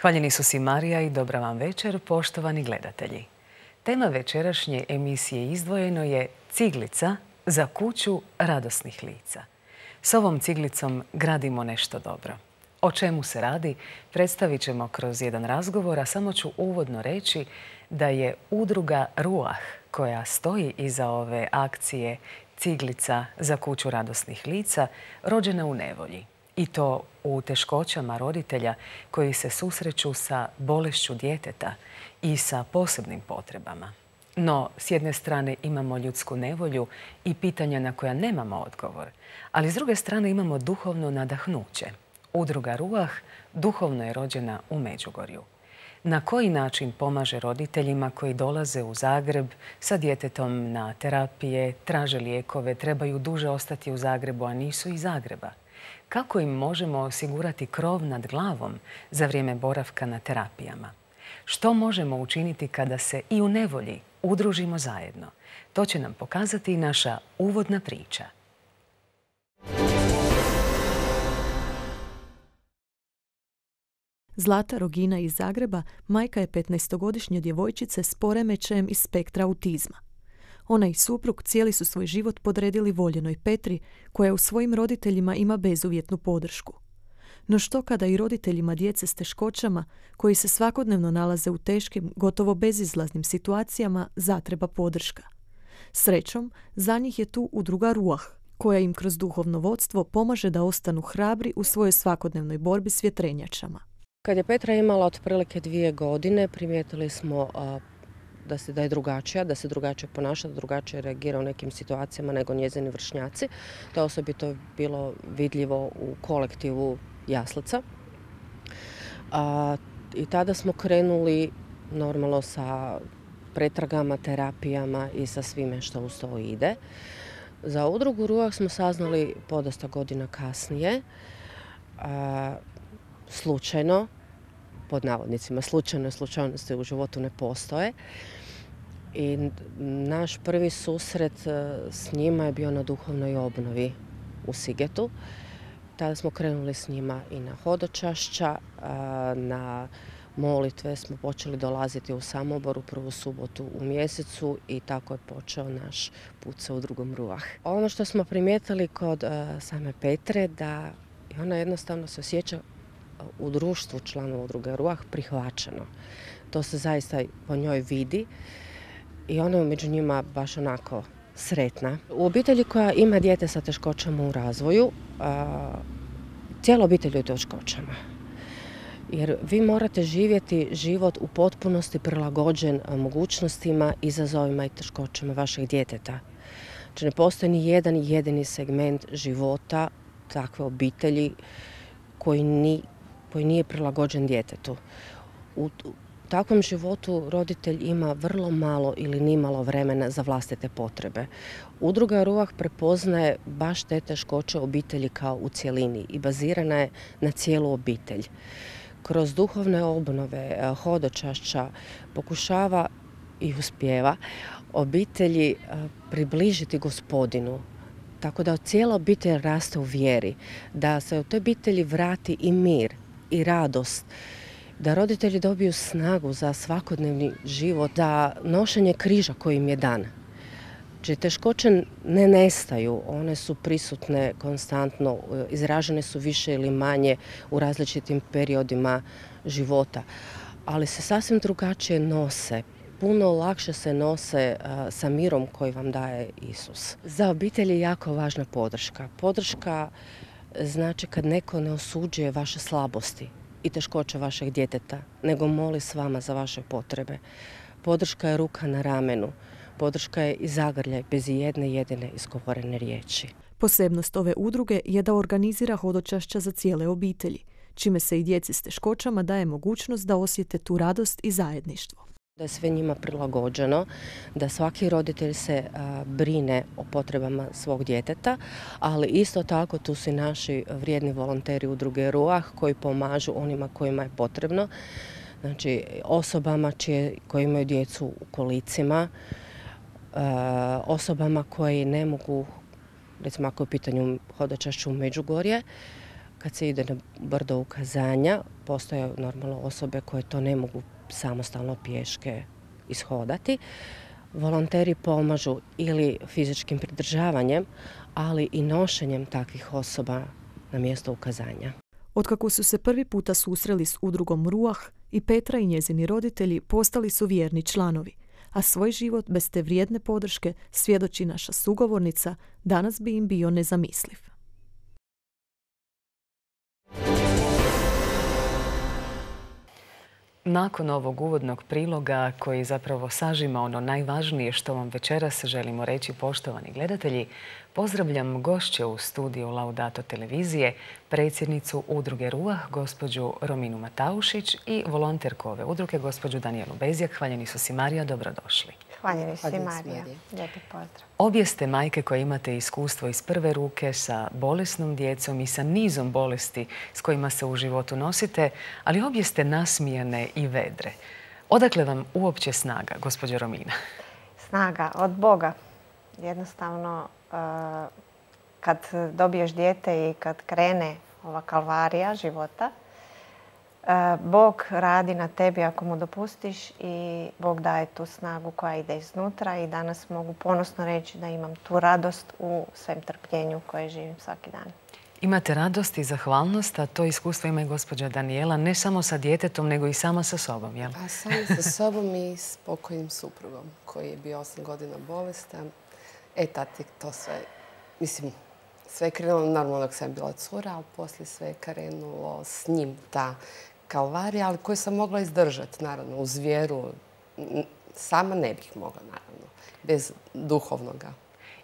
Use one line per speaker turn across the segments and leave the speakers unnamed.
Hvaljeni su si Marija i dobra vam večer, poštovani gledatelji. Tema večerašnje emisije Izdvojeno je ciglica za kuću radosnih lica. S ovom ciglicom gradimo nešto dobro. O čemu se radi, predstavit ćemo kroz jedan razgovor, a samo ću uvodno reći da je udruga Ruah, koja stoji iza ove akcije Ciglica za kuću radosnih lica, rođena u nevolji. I to u teškoćama roditelja koji se susreću sa bolešću djeteta i sa posebnim potrebama. No, s jedne strane imamo ljudsku nevolju i pitanja na koja nemamo odgovor, ali s druge strane imamo duhovno nadahnuće. Udruga Ruah duhovno je rođena u Međugorju. Na koji način pomaže roditeljima koji dolaze u Zagreb sa djetetom na terapije, traže lijekove, trebaju duže ostati u Zagrebu, a nisu iz Zagreba? Kako im možemo osigurati krov nad glavom za vrijeme boravka na terapijama? Što možemo učiniti kada se i u nevolji udružimo zajedno? To će nam pokazati i naša uvodna priča.
Zlata Rogina iz Zagreba majka je 15-godišnje djevojčice s poremećajem iz spektra autizma. Ona i suprug cijeli su svoj život podredili voljenoj Petri, koja u svojim roditeljima ima bezuvjetnu podršku. No što kada i roditeljima djece s teškoćama, koji se svakodnevno nalaze u teškim, gotovo bezizlaznim situacijama, zatreba podrška? Srećom, za njih je tu udruga Ruah, koja im kroz duhovno vodstvo pomaže da ostanu hrabri u svojoj svakodnevnoj borbi s vjetrenjačama.
Kad je Petra imala otprilike 2 godine, primijetili smo da je drugačija, da se drugačije ponaša, da drugačije reagira u nekim situacijama nego njezini vršnjaci. To je osobito bilo vidljivo u kolektivu jaslica. I tada smo krenuli normalno sa pretragama, terapijama i sa svime što uz to ide. Za udrugu Ruah smo saznali podosta godina kasnije, slučajno, pod navodnicima, slučajnosti u životu ne postoje. I naš prvi susret s njima je bio na duhovnoj obnovi u Sigetu. Tada smo krenuli s njima i na hodočašća, na molitve smo počeli dolaziti u Samoboru prvu subotu u mjesecu i tako je počeo naš put sa udrugom Ruah. Ono što smo primijetili kod same Petre, da ona jednostavno se osjeća u društvu članova udruge Ruah prihvaćeno. To se zaista po njoj vidi i ona je među njima baš onako sretna. U obitelji koja ima dijete sa teškoćama u razvoju, cijela obitelj je u teškoćama. Jer vi morate živjeti život u potpunosti prilagođen mogućnostima, izazovima i teškoćama vašeg djeteta. Znači ne postoji ni jedan jedini segment života takve obitelji koji nije prilagođen djetetu. U takvom životu roditelj ima vrlo malo ili nimalo vremena za vlastite potrebe. Udruga Ruah prepoznaje baš te teškoće obitelji kao u cjelini i bazirana je na cijelu obitelj. Kroz duhovne obnove, hodočašća pokušava i uspijeva obitelji približiti Gospodinu. Tako da cijela obitelj raste u vjeri, da se u toj obitelji vrati i mir i radost, da roditelji dobiju snagu za svakodnevni život, za nošenje križa koji im je dan. Znači, teškoće ne nestaju, one su prisutne konstantno, izražene su više ili manje u različitim periodima života, ali se sasvim drugačije nose. Puno lakše se nose sa mirom koji vam daje Isus. Za obitelj je jako važna podrška. Podrška znači kad neko ne osuđuje vaše slabosti i teškoće vašeg djeteta, nego moli s vama za vaše potrebe. Podrška je ruka na ramenu. Podrška je i zagrljaj bez jedne jedine izgovorene riječi.
Posebnost ove udruge je da organizira hodočašća za cijele obitelji, čime se i djeci s teškoćama daje mogućnost da osjete tu radost i zajedništvo.
Da je sve njima prilagođeno, da svaki roditelj se brine o potrebama svog djeteta, ali isto tako tu su i naši vrijedni volonteri udruge Ruah koji pomažu onima kojima je potrebno, znači osobama koji imaju djecu u kolicima, osobama koji ne mogu, recimo ako je u pitanju hodočašće u Međugorje, kad se ide na brdo ukazanja, postoje normalno osobe koje to ne mogu samostalno pješke ishodati. Volonteri pomažu ili fizičkim pridržavanjem, ali i nošenjem takvih osoba na mjesto ukazanja.
Otkako su se prvi puta susreli s udrugom Ruah, i Petra i njezini roditelji postali su vjerni članovi, a svoj život bez te vrijedne podrške, svjedoči naša sugovornica, danas bi im bio nezamisliv.
Nakon ovog uvodnog priloga koji zapravo sažima ono najvažnije što vam večeras želimo reći, poštovani gledatelji, pozdravljam gošće u studiju Laudato televizije, predsjednicu udruge Ruah, gospođu Rominu Mataušić i volonterku ove udruge, gospođu Danijelu Bezjak. Hvaljeni su si, Marija, dobrodošli.
Hvaljeni si, Marija. Lijepi pozdrav.
Obje ste majke koje imate iskustvo iz prve ruke sa bolesnom djecom i sa nizom bolesti s kojima se u životu nosite, ali obje ste nasmijane i vedre. Odakle vam uopće snaga, gospođo Romina?
Snaga od Boga. Jednostavno, kad dobiješ dijete i kad krene ova kalvarija života, Bog radi na tebi ako mu dopustiš i Bog daje tu snagu koja ide iznutra i danas mogu ponosno reći da imam tu radost u svem trpljenju koje živim svaki dan.
Imate radost i zahvalnost, a to iskustvo ima i gospođa Danijela, ne samo sa djetetom, nego i sama sa sobom, jel?
Pa sama sa sobom i s pokojnim suprugom koji je bio 8 godina bolestan. Tad je to sve, mislim, sve je krenulo normalno dok sam bila cura, ali poslije sve je krenulo s njim ta kalvarija, ali koju sam mogla izdržati, naravno, uz vjeru. Sama ne bih mogla, naravno, bez duhovnoga.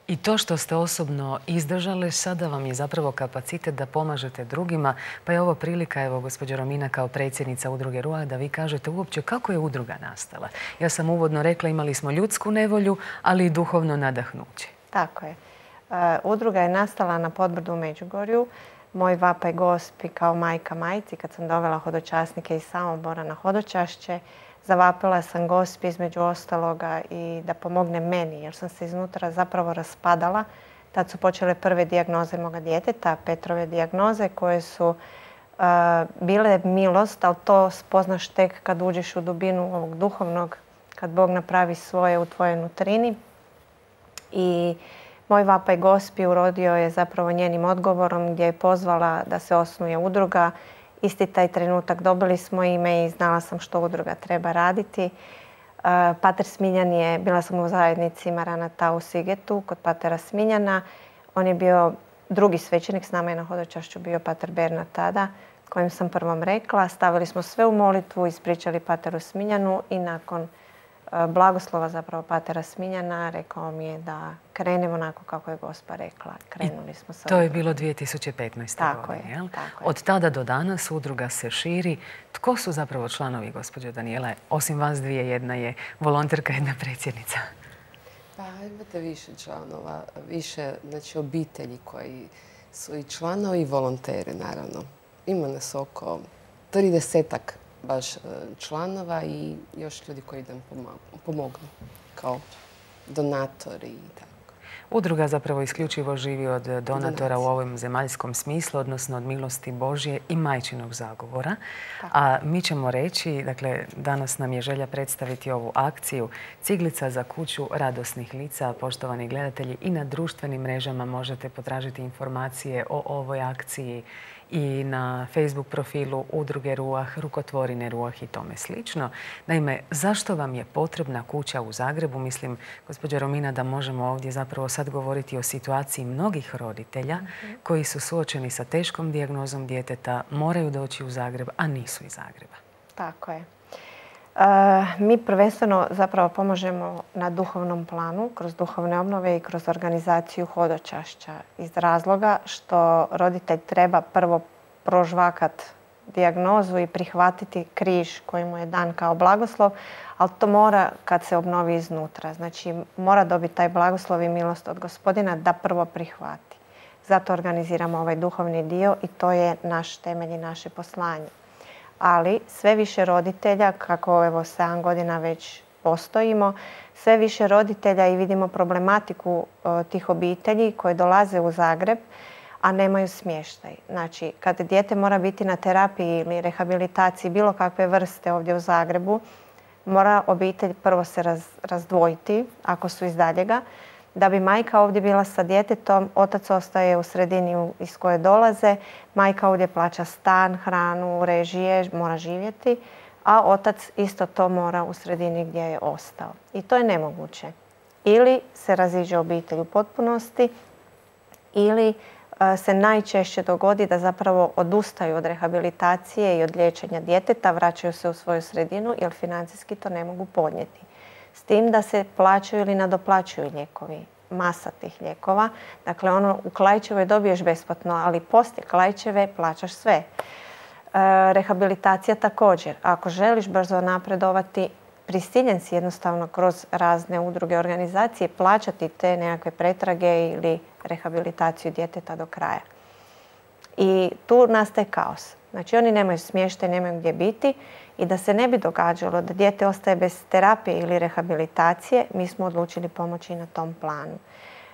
I to što ste osobno izdržali, sada vam je zapravo kapacitet da pomažete drugima, pa je ovo prilika, evo, gospođo Romina, kao predsjednica udruge Ruah, da vi kažete uopće kako je udruga nastala. Ja sam uvodno rekla, imali smo ljudsku nevolju, ali i duhovno nadahnuće.
Tako je. Udruga je nastala na Podbrdu u Međugorju. Moj vapaj Gospi kao majka majci, kad sam dovela hodočasnike iz Samobora na hodočašće, zavapila sam Gospi između ostaloga i da pomogne meni, jer sam se iznutra zapravo raspadala. Tad su počele prve dijagnoze moga djeteta, Petrove dijagnoze, koje su bile milost, ali to spoznaš tek kad uđeš u dubinu ovog duhovnog, kad Bog napravi svoje u tvojoj nutrini. I moj vapaj Gospi urodio je zapravo njenim odgovorom gdje je pozvala da se osnuje udruga. Isti taj trenutak dobili smo ime i znala sam što udruga treba raditi. Pater Smiljan je, bila sam u zajednici Maranata u Sigetu kod patera Smiljana. On je bio drugi svećenik, s nama je na hodočašću bio pater Bernard tada, kojem sam prvom rekla. Stavili smo sve u molitvu, ispričali pateru Smiljanu i nakon blagoslova zapravo patera Smiljana rekao mi je da krenemo onako kako je Gospa rekla. Krenuli smo sa
to je bilo 2015. godine, jel?
Tako je.
Od tada do danas udruga se širi. Tko su zapravo članovi, gospođo Danijela? Osim vas dvije, jedna je volonterka, jedna predsjednica.
Pa imate više članova, više obitelji koji su i članovi i volonteri, naravno. Ima nas oko 30-ak baš članova i još ljudi koji nam pomognu kao donatori i tako.
Udruga zapravo isključivo živi od donatora u ovom zemaljskom smislu, odnosno od milosti Božje i majčinog zagovora. A mi ćemo reći, dakle, danas nam je želja predstaviti ovu akciju Ciglica za kuću radosnih lica. Poštovani gledatelji, i na društvenim mrežama možete potražiti informacije o ovoj akciji i na Facebook profilu udruge Ruah, rukotvorine Ruah i tome slično. Naime, zašto vam je potrebna kuća u Zagrebu? Mislim, gospođa Romina, da možemo ovdje zapravo sad govoriti o situaciji mnogih roditelja koji su suočeni sa teškom dijagnozom djeteta, moraju doći u Zagreb, a nisu iz Zagreba.
Tako je. Mi prvenstveno zapravo pomažemo na duhovnom planu, kroz duhovne obnove i kroz organizaciju hodočašća. Iz razloga što roditelj treba prvo prožvakat dijagnozu i prihvatiti križ koji mu je dan kao blagoslov, ali to mora kad se obnovi iznutra. Znači mora dobiti taj blagoslov i milost od Gospodina da prvo prihvati. Zato organiziramo ovaj duhovni dio i to je naš temelj i naše poslanje. Ali sve više roditelja, kako evo 7 godina već postojimo, sve više roditelja i vidimo problematiku tih obitelji koje dolaze u Zagreb, a nemaju smještaj. Znači, kad dijete mora biti na terapiji ili rehabilitaciji bilo kakve vrste ovdje u Zagrebu, mora obitelj prvo se razdvojiti, ako su iz daljega, da bi majka ovdje bila sa djetetom, otac ostaje u sredini iz koje dolaze, majka ovdje plaća stan, hranu, režije, mora živjeti, a otac isto to mora u sredini gdje je ostao. I to je nemoguće. Ili se raziđe obitelj u potpunosti, ili se najčešće dogodi da zapravo odustaju od rehabilitacije i od liječenja djeteta, vraćaju se u svoju sredinu jer financijski to ne mogu podnijeti. S tim da se plaćaju ili nadoplaćuju lijekovi, masa tih lijekova. Dakle, u Klaićevoj dobiješ besplatno, ali poslije Klaićeve plaćaš sve. Rehabilitacija također. Ako želiš brzo napredovati, prisiljen si jednostavno kroz razne udruge, organizacije plaćati te nekakve pretrage ili rehabilitaciju djeteta do kraja. I tu nastaje kaos. Znači oni nemaju smještaj, nemaju gdje biti i da se ne bi događalo da dijete ostaje bez terapije ili rehabilitacije, mi smo odlučili pomoći na tom planu.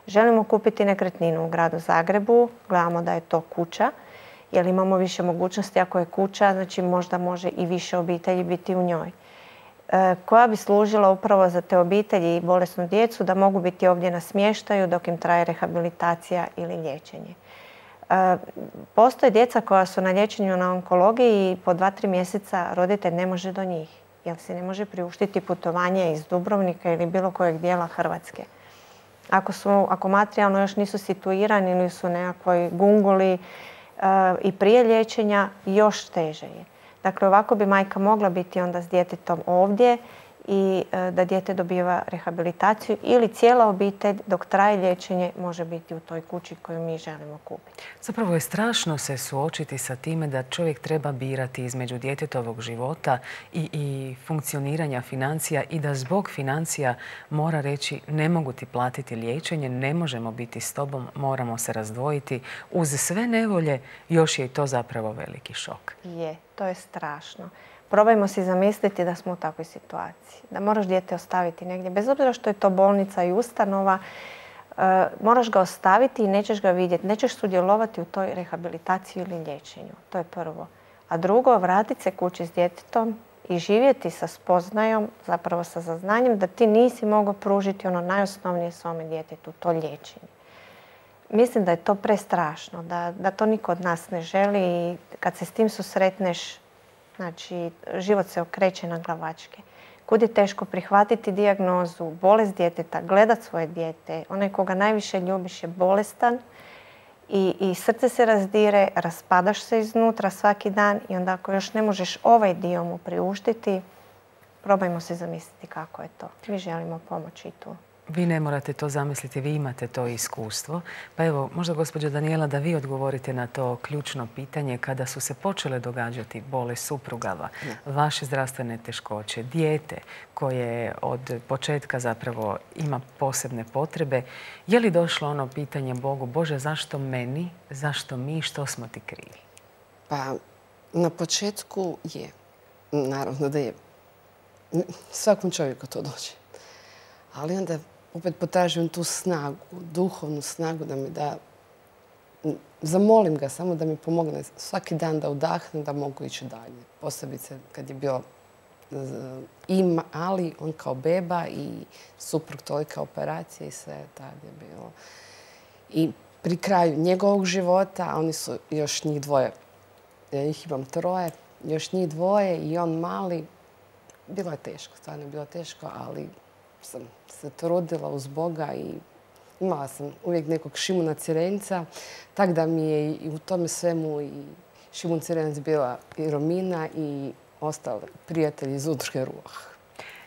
Želimo kupiti nekretninu u gradu Zagrebu, gledamo da je to kuća, jer imamo više mogućnosti. Ako je kuća, znači možda može i više obitelji biti u njoj, koja bi služila upravo za te obitelji i bolesnu djecu da mogu biti ovdje na smještaju dok im traje rehabilitacija ili liječenje. Postoje djeca koja su na liječenju na onkologiji i po 2-3 mjeseca roditelj ne može do njih jer se ne može priuštiti putovanje iz Dubrovnika ili bilo kojeg dijela Hrvatske. Ako materijalno još nisu situirani ili su nekakvoj gunguli i prije liječenja, još teže je. Dakle, ovako bi majka mogla biti onda s djetetom ovdje i da dijete dobiva rehabilitaciju ili cijela obitelj dok traje liječenje može biti u toj kući koju mi želimo kupiti.
Zapravo je strašno se suočiti sa time da čovjek treba birati između djetetovog života i funkcioniranja financija i da zbog financija mora reći ne mogu ti platiti liječenje, ne možemo biti s tobom, moramo se razdvojiti. Uz sve nevolje još je i to zapravo veliki šok.
Je, to je strašno. Probajmo si zamisliti da smo u takvoj situaciji. Da moraš dijete ostaviti negdje. Bez obzira što je to bolnica i ustanova, moraš ga ostaviti i nećeš ga vidjeti. Nećeš sudjelovati u toj rehabilitaciji ili liječenju. To je prvo. A drugo, vratiti se kući s djetetom i živjeti sa spoznajom, zapravo sa saznanjem da ti nisi mogao pružiti ono najosnovnije svome djetetu, to liječenje. Mislim da je to prestrašno, da to niko od nas ne želi i kad se s tim susretneš, znači, život se okreće na glavačke. Kud je teško prihvatiti dijagnozu, bolest djeteta, gledat svoje dijete. Onaj koga najviše ljubiš je bolestan i srce se razdire, raspadaš se iznutra svaki dan i onda ako još ne možeš ovaj dio mu priuštiti, probajmo se zamisliti kako je to. Mi želimo pomoći tu.
Vi ne morate to zamisliti, vi imate to iskustvo. Pa evo, možda gospođo Danijela da vi odgovorite na to ključno pitanje kada su se počele događati bolest suprugava, vaše zdravstvene teškoće, dijete koje od početka zapravo ima posebne potrebe. Je li došlo ono pitanje Bogu, Bože, zašto meni, zašto mi, što smo ti krivi?
Pa, na početku je. Naravno da je. Svakom čovjeku to dođe. Ali onda opet potražujem tu snagu, duhovnu snagu da mi da... Zamolim ga samo da mi pomogne svaki dan da udahnem, da mogu ići dalje. Posebice kad je bio ali on kao beba i suprug tolika operacija i sve tad je bilo. I pri kraju njegovog života, a oni su još njih dvoje, ja ih imam 3, još njih 2 i on mali, bilo je teško, stvarno je bilo teško, ali sam se trudila uz Boga i imala sam uvijek nekog Šimuna Cirenca, tak da mi je i u tome svemu i Šimun Cirenac bila i Romina i ostali prijatelji iz udruge Ruah.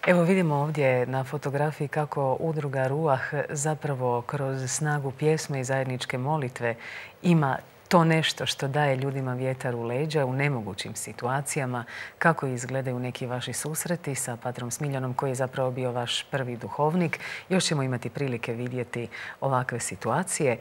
Evo vidimo ovdje na fotografiji kako udruga Ruah zapravo kroz snagu pjesme i zajedničke molitve ima to nešto što daje ljudima vjetar u leđa u nemogućim situacijama. Kako izgledaju neki vaši susreti sa patrom Smiljanom koji je zapravo bio vaš prvi duhovnik. Još ćemo imati prilike vidjeti ovakve situacije.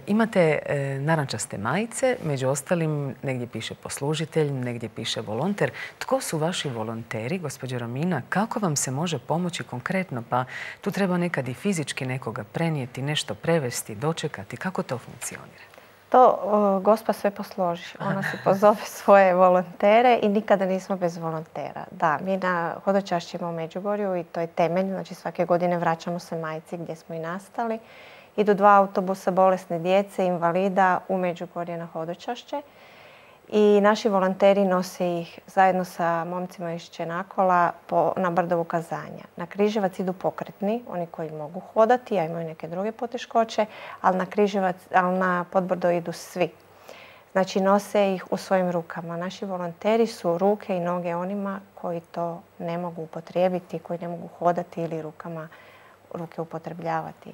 Imate narančaste majice, među ostalim negdje piše poslužitelj, negdje piše volonter. Tko su vaši volonteri, gospođo Romina? Kako vam se može pomoći konkretno? Pa tu treba nekad i fizički nekoga prenijeti, nešto prevesti, dočekati. Kako to funkcionira?
To Gospa sve posloži. Ona si pozove svoje volontere i nikada nismo bez volontera. Da, mi na hodočašćima u Međugorju i to je temelj. Znači svake godine vraćamo se majci gdje smo i nastali. Idu 2 autobusa bolesne djece, invalida u Međugorje na hodočašće. I naši volonteri nose ih zajedno sa momcima iz Čenakola na Brdovu Kazanja. Na Križevac idu pokretni, oni koji mogu hodati, a imaju neke druge poteškoće, ali na Podbrdo idu svi. Znači nose ih u svojim rukama. Naši volonteri su ruke i noge onima koji to ne mogu upotrijebiti, koji ne mogu hodati ili ruke upotrebljavati.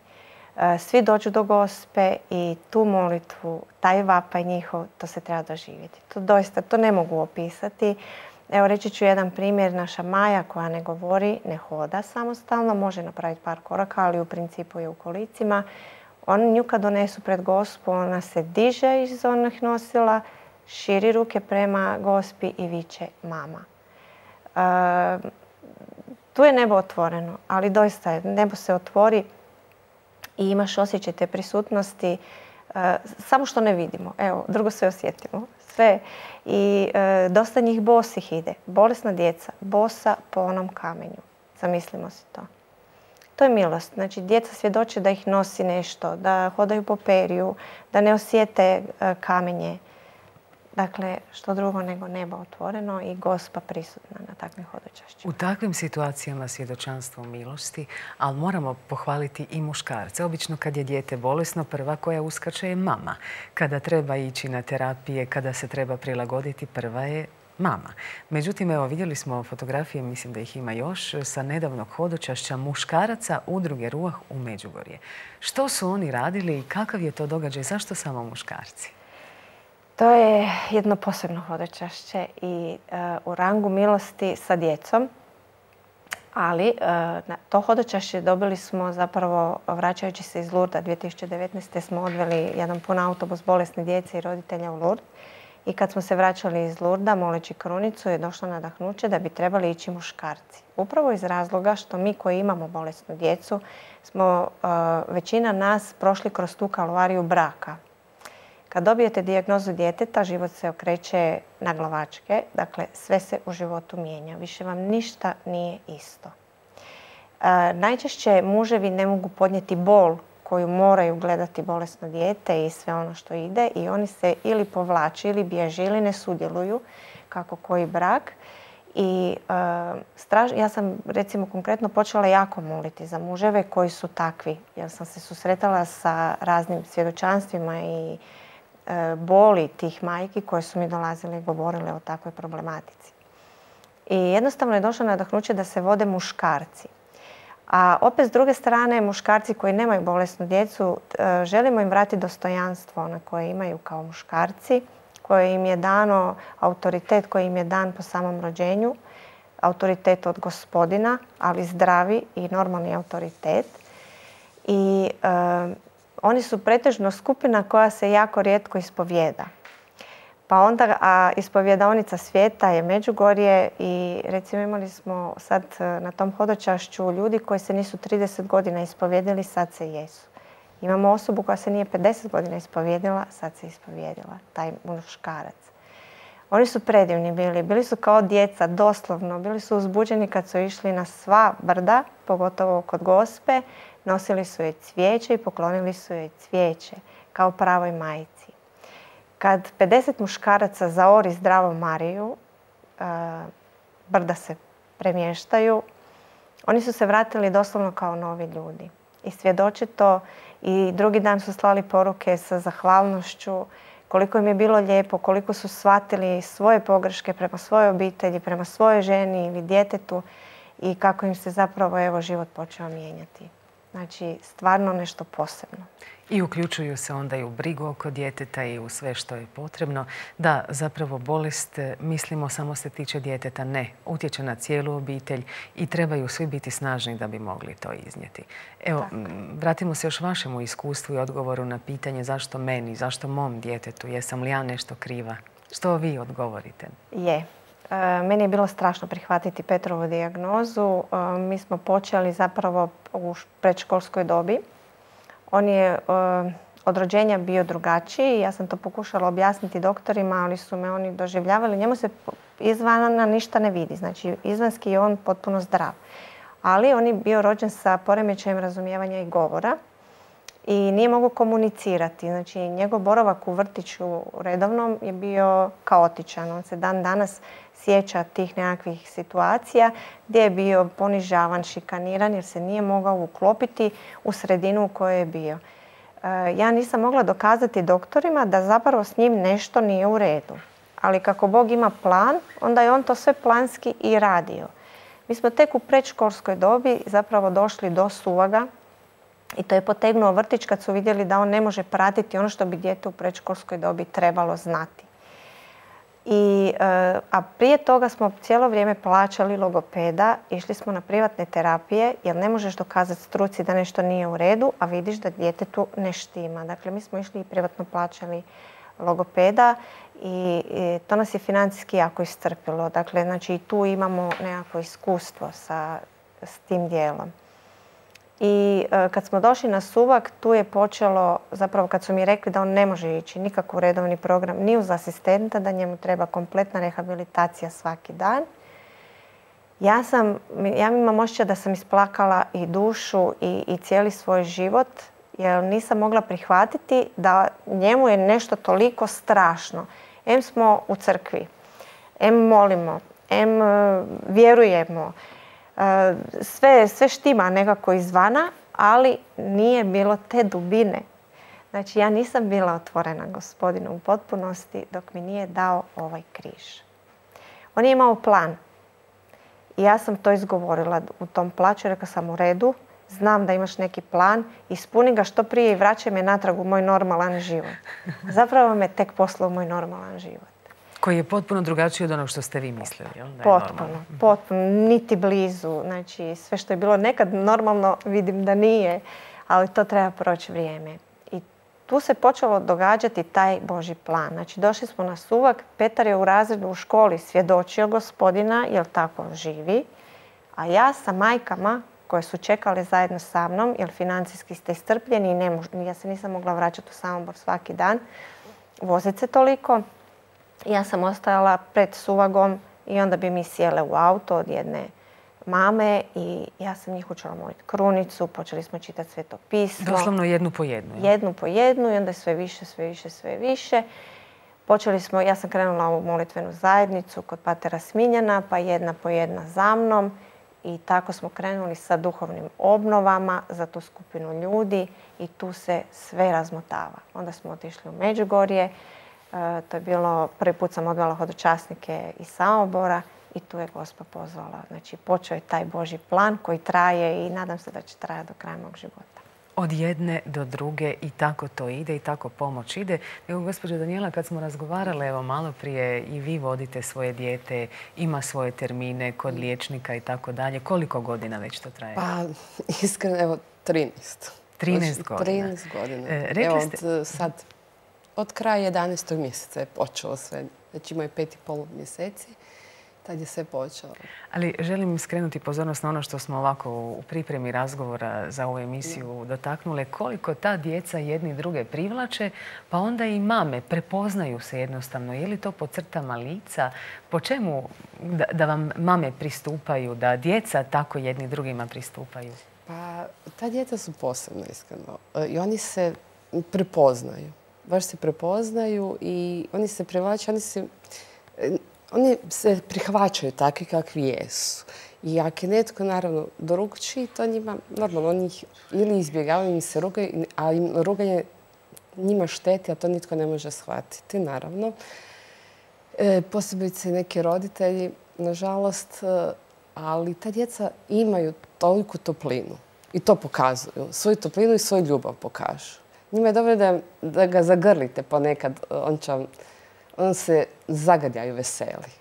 Svi dođu do Gospe i tu molitvu, taj vapaj njihov, to se treba doživjeti. To doista, to ne mogu opisati. Evo reći ću jedan primjer. Naša Maja koja ne govori, ne hoda samostalno, može napraviti par koraka, ali u principu je u kolicima. Oni nju kad donesu pred Gospu, ona se diže iz onih nosila, širi ruke prema Gospi i viče mama. Tu je nebo otvoreno, ali doista je, nebo se otvori i imaš osjećaj te prisutnosti, samo što ne vidimo. Evo, drugo sve osjetimo. Sve. I dosta njih bosih ide. Bolesna djeca, bosa po onom kamenju. Zamislimo si to. To je milost. Znači, djeca svjedoče da ih nosi nešto, da hodaju po periju, da ne osjete kamenje. Dakle, što drugo nego nebo otvoreno i Gospa prisutna na takvim hodočašćima.
U takvim situacijama svjedočanstvo milosti, ali moramo pohvaliti i muškarce. Obično kad je dijete bolesno, prva koja uskače je mama. Kada treba ići na terapije, kada se treba prilagoditi, prva je mama. Međutim, evo, vidjeli smo fotografije, mislim da ih ima još, sa nedavnog hodočašća muškaraca udruge Ruah u Međugorje. Što su oni radili i kakav je to događaj? Zašto samo muškarci?
To je jedno posebno hodočašće i u rangu milosti sa djecom. Ali na to hodočašće dobili smo zapravo, vraćajući se iz Lurda 2019. smo odveli jedan pun autobus bolesne djece i roditelja u Lurd. I kad smo se vraćali iz Lurda, moleći krunicu, je došlo nadahnuće da bi trebali ići muškarci. Upravo iz razloga što mi koji imamo bolesnu djecu smo većina nas prošli kroz tu kalvariju braka. Kad dobijete dijagnozu djeteta, život se okreće na glavačke. Dakle, sve se u životu mijenja. Više vam ništa nije isto. Najčešće muževi ne mogu podnijeti bol koju moraju gledati bolesno dijete i sve ono što ide i oni se ili povlače ili bježe ili ne sudjeluju kako koji brak. I ja sam recimo konkretno počela jako moliti za muževe koji su takvi jer sam se susretala sa raznim svjedočanstvima i boli tih majki koje su mi dolazile i govorile o takvoj problematici. I jednostavno je došlo nadahnuće da se vode muškarci. A opet s druge strane, muškarci koji nemaju bolesnu djecu, želimo im vratiti dostojanstvo na koje imaju kao muškarci, koje im je dano autoritet koji im je dan po samom rođenju, autoritet od Gospodina, ali zdravi i normalni autoritet. I oni su pretežno skupina koja se jako rijetko ispovijeda. Pa onda, a ispovjedaonica svijeta je Međugorje i recimo imali smo sad na tom hodočašću ljudi koji se nisu 30 godina ispovjedili, sad se jesu. Imamo osobu koja se nije 50 godina ispovjedila, sad se ispovjedila, taj muškarac. Oni su predivni bili su kao djeca, doslovno, bili su uzbuđeni kad su išli na sva brda, pogotovo kod Gospe, nosili su joj cvijeće i poklonili su joj cvijeće, kao pravoj majci. Kad 50 muškaraca zaori zdravo Mariju, brda se premještaju, oni su se vratili doslovno kao novi ljudi. I svjedoče to i drugi dan su slali poruke sa zahvalnošću, koliko im je bilo lijepo, koliko su shvatili svoje pogreške prema svojoj obitelji, prema svojoj ženi ili djetetu i kako im se zapravo život počeo mijenjati. Znači, stvarno nešto posebno.
I uključuju se onda i u brigu oko djeteta i u sve što je potrebno. Da, zapravo bolest, mislimo, samo se tiče djeteta. Ne, utječe na cijelu obitelj i trebaju svi biti snažni da bi mogli to iznijeti. Evo, vratimo se još vašemu iskustvu i odgovoru na pitanje zašto meni, zašto mom djetetu, jesam li ja nešto kriva? Što vi odgovorite?
Meni je bilo strašno prihvatiti Petrovu dijagnozu. Mi smo počeli zapravo u predškolskoj dobi. On je od rođenja bio drugačiji. Ja sam to pokušala objasniti doktorima, ali su me oni doživljavali. Njemu se izvana ništa ne vidi. Znači, izvanski je on potpuno zdrav. Ali on je bio rođen sa poremećajem razumijevanja i govora i nije mogao komunicirati. Znači, njegov boravak u vrtiću redovnom je bio kaotičan. On se dan danas sjeća tih nekakvih situacija gdje je bio ponižavan, šikaniran jer se nije mogao uklopiti u sredinu u kojoj je bio. Ja nisam mogla dokazati doktorima da zapravo s njim nešto nije u redu. Ali kako Bog ima plan, onda je on to sve planski i radio. Mi smo tek u predškolskoj dobi zapravo došli do suvaga i to je potegnuo vrtić kad su vidjeli da on ne može pratiti ono što bi dijete u predškolskoj dobi trebalo znati. A prije toga smo cijelo vrijeme plaćali logopeda, išli smo na privatne terapije jer ne možeš dokazati struci da nešto nije u redu, a vidiš da djetetu ne štima. Dakle, mi smo išli i privatno plaćali logopeda i to nas je financijski jako iscrpilo. Dakle, znači, tu imamo nekako iskustvo s tim dijelom. I kad smo došli na Suvag, tu je počelo, zapravo kad su mi rekli da on ne može ići nikako u redovni program, ni uz asistenta, da njemu treba kompletna rehabilitacija svaki dan. Ja imam osjećaj da sam isplakala i dušu i cijeli svoj život, jer nisam mogla prihvatiti da njemu je nešto toliko strašno. Em smo u crkvi, em molimo, em vjerujemo. Sve štima nekako izvana, ali nije bilo te dubine. Znači, ja nisam bila otvorena Gospodinu u potpunosti dok mi nije dao ovaj križ. On je imao plan. I ja sam to izgovorila u tom plaću. Rekla sam, u redu, znam da imaš neki plan, ispuni ga što prije i vraćaj me natrag u moj normalan život. Zapravo me tek poslao u moj normalan život.
Koji je potpuno drugačiji od onog što ste vi mislili, jel?
Potpuno. Niti blizu. Znači, sve što je bilo nekad normalno vidim da nije, ali to treba proći vrijeme. I tu se počelo događati taj Božji plan. Znači, došli smo na Suvag, Petar je u razredu u školi svjedočio Gospodina, jer tako živi, a ja sa majkama koje su čekale zajedno sa mnom, jer financijski ste iscrpljeni i ja se nisam mogla vraćati u Samobor svaki dan, voziti se toliko. Ja sam ostajala pred Suvagom i onda bi mi sjele u auto od jedne mame i ja sam njih učila moliti krunicu, počeli smo čitati Sveto pismo.
Doslovno jednu po jednu.
Jednu po jednu i onda sve više. Počeli smo, ja sam krenula u molitvenu zajednicu kod patera Smiljana, pa jedna po jedna za mnom i tako smo krenuli sa duhovnim obnovama za tu skupinu ljudi i tu se sve razmotava. Onda smo otišli u Međugorje. To je bilo, prvi put sam odvela hodočasnike iz Samobora i tu je Gospa pozvala. Znači, počeo je taj Božji plan koji traje i nadam se da će trajati do kraja mog života.
Od jedne do druge i tako to ide i tako pomoć ide. Evo, gospođo Danijela, kad smo razgovarale, evo malo prije i vi vodite svoje dijete, ima svoje termine kod liječnika i tako dalje. Koliko godina već to traje?
Pa, iskreno, evo, 13.
13 godina.
13 godina.
Rekli ste...
Od kraja 11. mjeseca je počelo sve. Znači imaju 5,5 mjeseci. Tad je sve počelo.
Ali želim skrenuti pozornost na ono što smo ovako u pripremi razgovora za ovu emisiju dotaknule. Koliko ta djeca jedni druge privlače, pa onda i mame prepoznaju se jednostavno. Je li to po crtama lica? Po čemu da vam mame pristupaju, da djeca tako jedni drugima pristupaju?
Pa ta djeca su posebno, iskreno. I oni se prepoznaju. Baš se prepoznaju i oni se privlače, oni se prihvaćaju takvi kakvi jesu. I ako je netko, naravno, drukčiji, to njima, normalno, oni ih ili izbjegavaju, im se rugaju, a im ruganje njima šteti, a to nitko ne može shvatiti, naravno. Posebice neki roditelji, nažalost, ali ta djeca imaju toliku toplinu i to pokazuju. Svoju toplinu i svoju ljubav pokažu. Njima je dobro da ga zagrlite ponekad, on se zagrljaju veseli.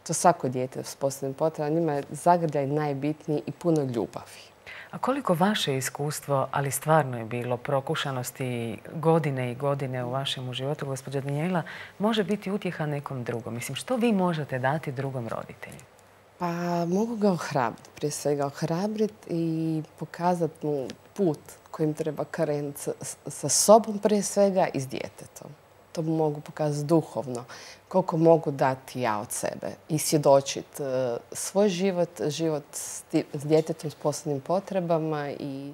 To svako dijete s posebnim potrebama, njima je zagrljaj najbitniji i puno ljubavi.
A koliko vaše iskustvo, ali stvarno je bilo prokušanosti godine i godine u vašem životu, gospođa Danijela, može biti utjeha nekom drugom? Mislim, što vi možete dati drugom roditelju?
Pa mogu ga ohrabriti, prije svega ohrabriti i pokazati mu put kojim treba krenuti sa sobom prije svega i s djetetom. To mogu pokazati duhovno. Koliko mogu dati ja od sebe i svjedočiti svoj život, život s djetetom s posebnim potrebama i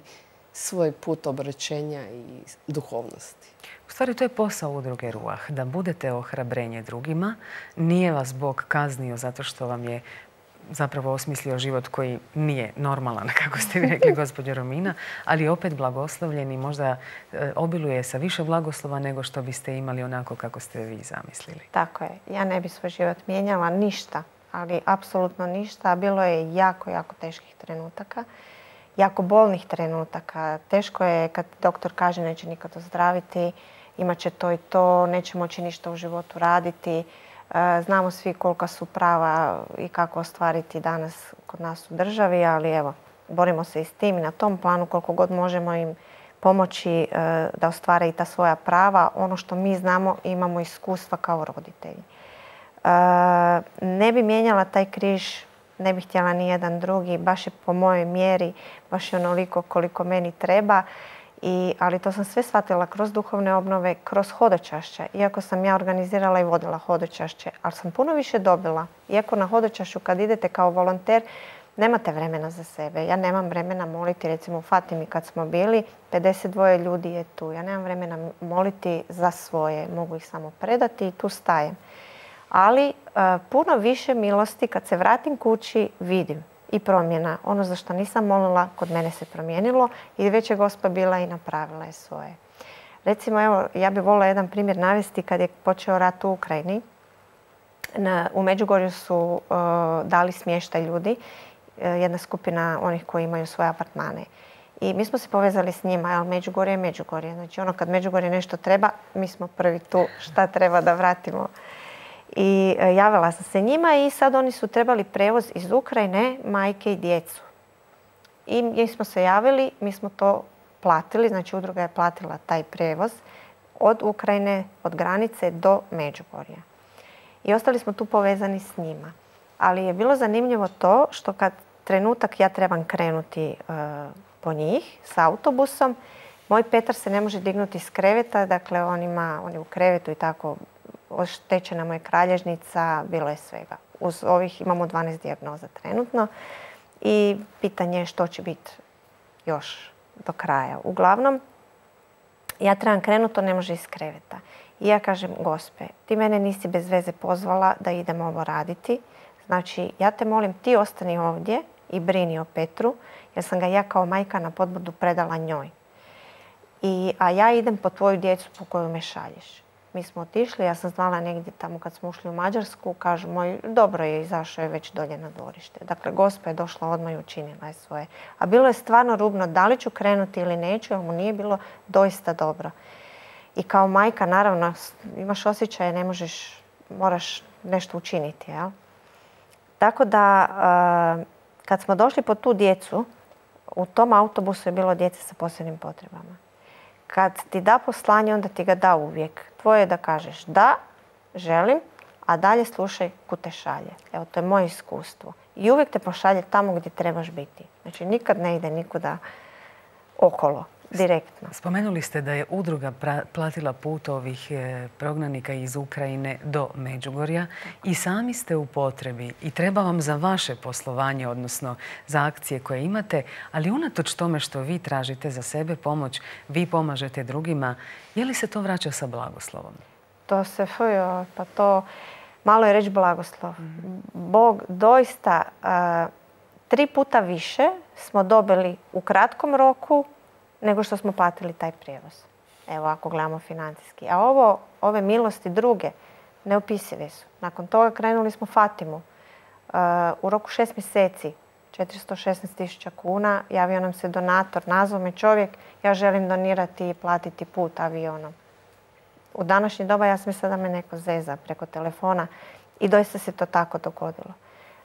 svoj put obraćenja i duhovnosti.
U stvari, to je posao udruge Ruah, da budete ohrabrenje drugima. Nije vas Bog kaznio zato što vam je zapravo osmislio život koji nije normalan, kako ste vi rekli, gospođo Romina, ali opet blagoslovljen i možda obiluje sa više blagoslova nego što biste imali onako kako ste vi zamislili.
Tako je. Ja ne bi svoj život mijenjala ništa, ali apsolutno ništa. Bilo je jako, jako teških trenutaka, jako bolnih trenutaka. Teško je kad doktor kaže neće nikad ozdraviti, imat će to i to, neće moći ništa u životu raditi. Znamo svi kolika su prava i kako ostvariti danas kod nas u državi, ali evo, borimo se i s tim i na tom planu koliko god možemo im pomoći da ostvare i ta svoja prava. Ono što mi znamo, imamo iskustva kao roditelji. Ne bi mijenjala taj križ, ne bih htjela ni jedan drugi, baš je po mojoj mjeri, baš je onoliko koliko meni treba. Ali to sam sve shvatila kroz duhovne obnove, kroz hodočašća. Iako sam ja organizirala i vodila hodočašće, ali sam puno više dobila. Iako na hodočašću kad idete kao volonter, nemate vremena za sebe. Ja nemam vremena moliti, recimo u Fatimi kad smo bili, 52 ljudi je tu. Ja nemam vremena moliti za svoje, mogu ih samo predati i tu stajem. Ali puno više milosti kad se vratim kući vidim. I promjena. Ono za što nisam molila, kod mene se promijenilo i već je Gospa bila i napravila je svoje. Recimo, evo, ja bih volila jedan primjer navesti kad je počeo rat u Ukrajini. U Međugorju su dali smještaj ljudi, jedna skupina onih koji imaju svoje apartmane. I mi smo se povezali s njima, ali Međugorje je Međugorje. Znači ono kad Međugorje nešto treba, mi smo prvi tu šta treba da vratimo. I javila sam se njima i sad oni su trebali prevoz iz Ukrajine, majke i djecu. I mi smo se javili, mi smo to platili, znači udruga je platila taj prevoz od Ukrajine, od granice do Međugorja. I ostali smo tu povezani s njima. Ali je bilo zanimljivo to što kad trenutak ja trebam krenuti po njih s autobusom, moj Petar se ne može dignuti iz kreveta, dakle on je u krevetu i tako, oštećena mu je kralježnica, bilo je svega. Uz ovih imamo 12 dijagnoza trenutno i pitanje je što će biti još do kraja. Uglavnom, ja trebam krenuti, to ne može iz kreveta. I ja kažem, Gospe, ti mene nisi bez veze pozvala da idem ovo raditi. Znači, ja te molim, ti ostani ovdje i brini o Petru, jer sam ga ja kao majka na podbudu predala njoj. A ja idem po tvoju djecu po koju me šalješ. Mi smo otišli, ja sam znala negdje tamo kad smo ušli u Mađarsku, kažu moj, dobro je, izašao je već dolje na dvorište. Dakle, Gospa je došla odmah i učinila je svoje. A bilo je stvarno rubno, da li ću krenuti ili neću, jer mu nije bilo doista dobro. I kao majka, naravno, imaš osjećaje, ne možeš, moraš nešto učiniti, jel? Tako da, kad smo došli po tu djecu, u tom autobusu je bilo djece sa posebnim potrebama. Kad ti da poslanje, onda ti ga da uvijek. Tvoje je da kažeš da, želim, a dalje slušaj kud te šalje. Evo, to je moje iskustvo. I uvijek te pošalje tamo gdje trebaš biti. Znači, nikad ne ide nikuda okolo, direktno.
Spomenuli ste da je udruga platila put ovih prognanika iz Ukrajine do Međugorja i sami ste u potrebi i treba vam za vaše poslovanje, odnosno za akcije koje imate, ali unatoč tome što vi tražite za sebe pomoć, vi pomažete drugima, je li se to vraća sa blagoslovom?
To se, pa to malo je reći blagoslov. Bog doista 3 puta više smo dobili u kratkom roku nego što smo platili taj prijevoz. Evo, ako gledamo financijski. A ove milosti druge, neopisive su. Nakon toga krenuli smo Fatimu. U roku 6 mjeseci, 416.000 kuna, javio nam se donator, nazvao me čovjek, ja želim donirati i platiti put avionom. U današnje doba ja sam mislila da me neko zeza preko telefona i doista se to tako dogodilo.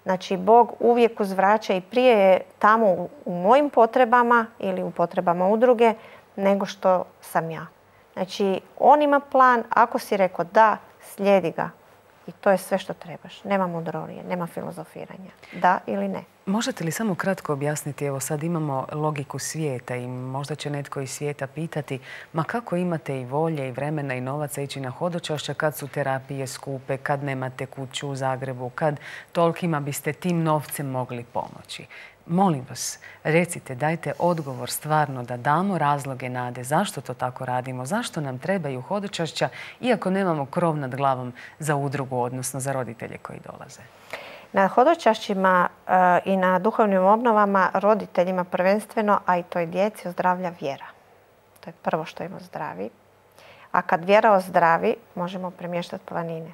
Znači, Bog uvijek uzvraća i prije je tamo u mojim potrebama ili u potrebama udruge nego što sam ja. Znači, on ima plan, ako si rekao da, slijedi ga. I to je sve što trebaš. Nema mudrolije, nema filozofiranja. Da ili ne.
Možete li samo kratko objasniti, evo sad imamo logiku svijeta i možda će netko iz svijeta pitati ma kako imate i volje i vremena i novaca ići na hodočašća kad su terapije skupe, kad nemate kuću u Zagrebu, kad tolikima biste tim novcem mogli pomoći. Molim vas, recite, dajte odgovor stvarno da damo razloge nade zašto to tako radimo, zašto nam trebaju hodočašća iako nemamo krov nad glavom za udrugu, odnosno za roditelje koji dolaze.
Na hodočašćima i na duhovnim obnovama roditeljima prvenstveno, a i toj djeci ozdravlja vjera. To je prvo što im ozdravi. A kad vjera ozdravi, možemo premještati planine.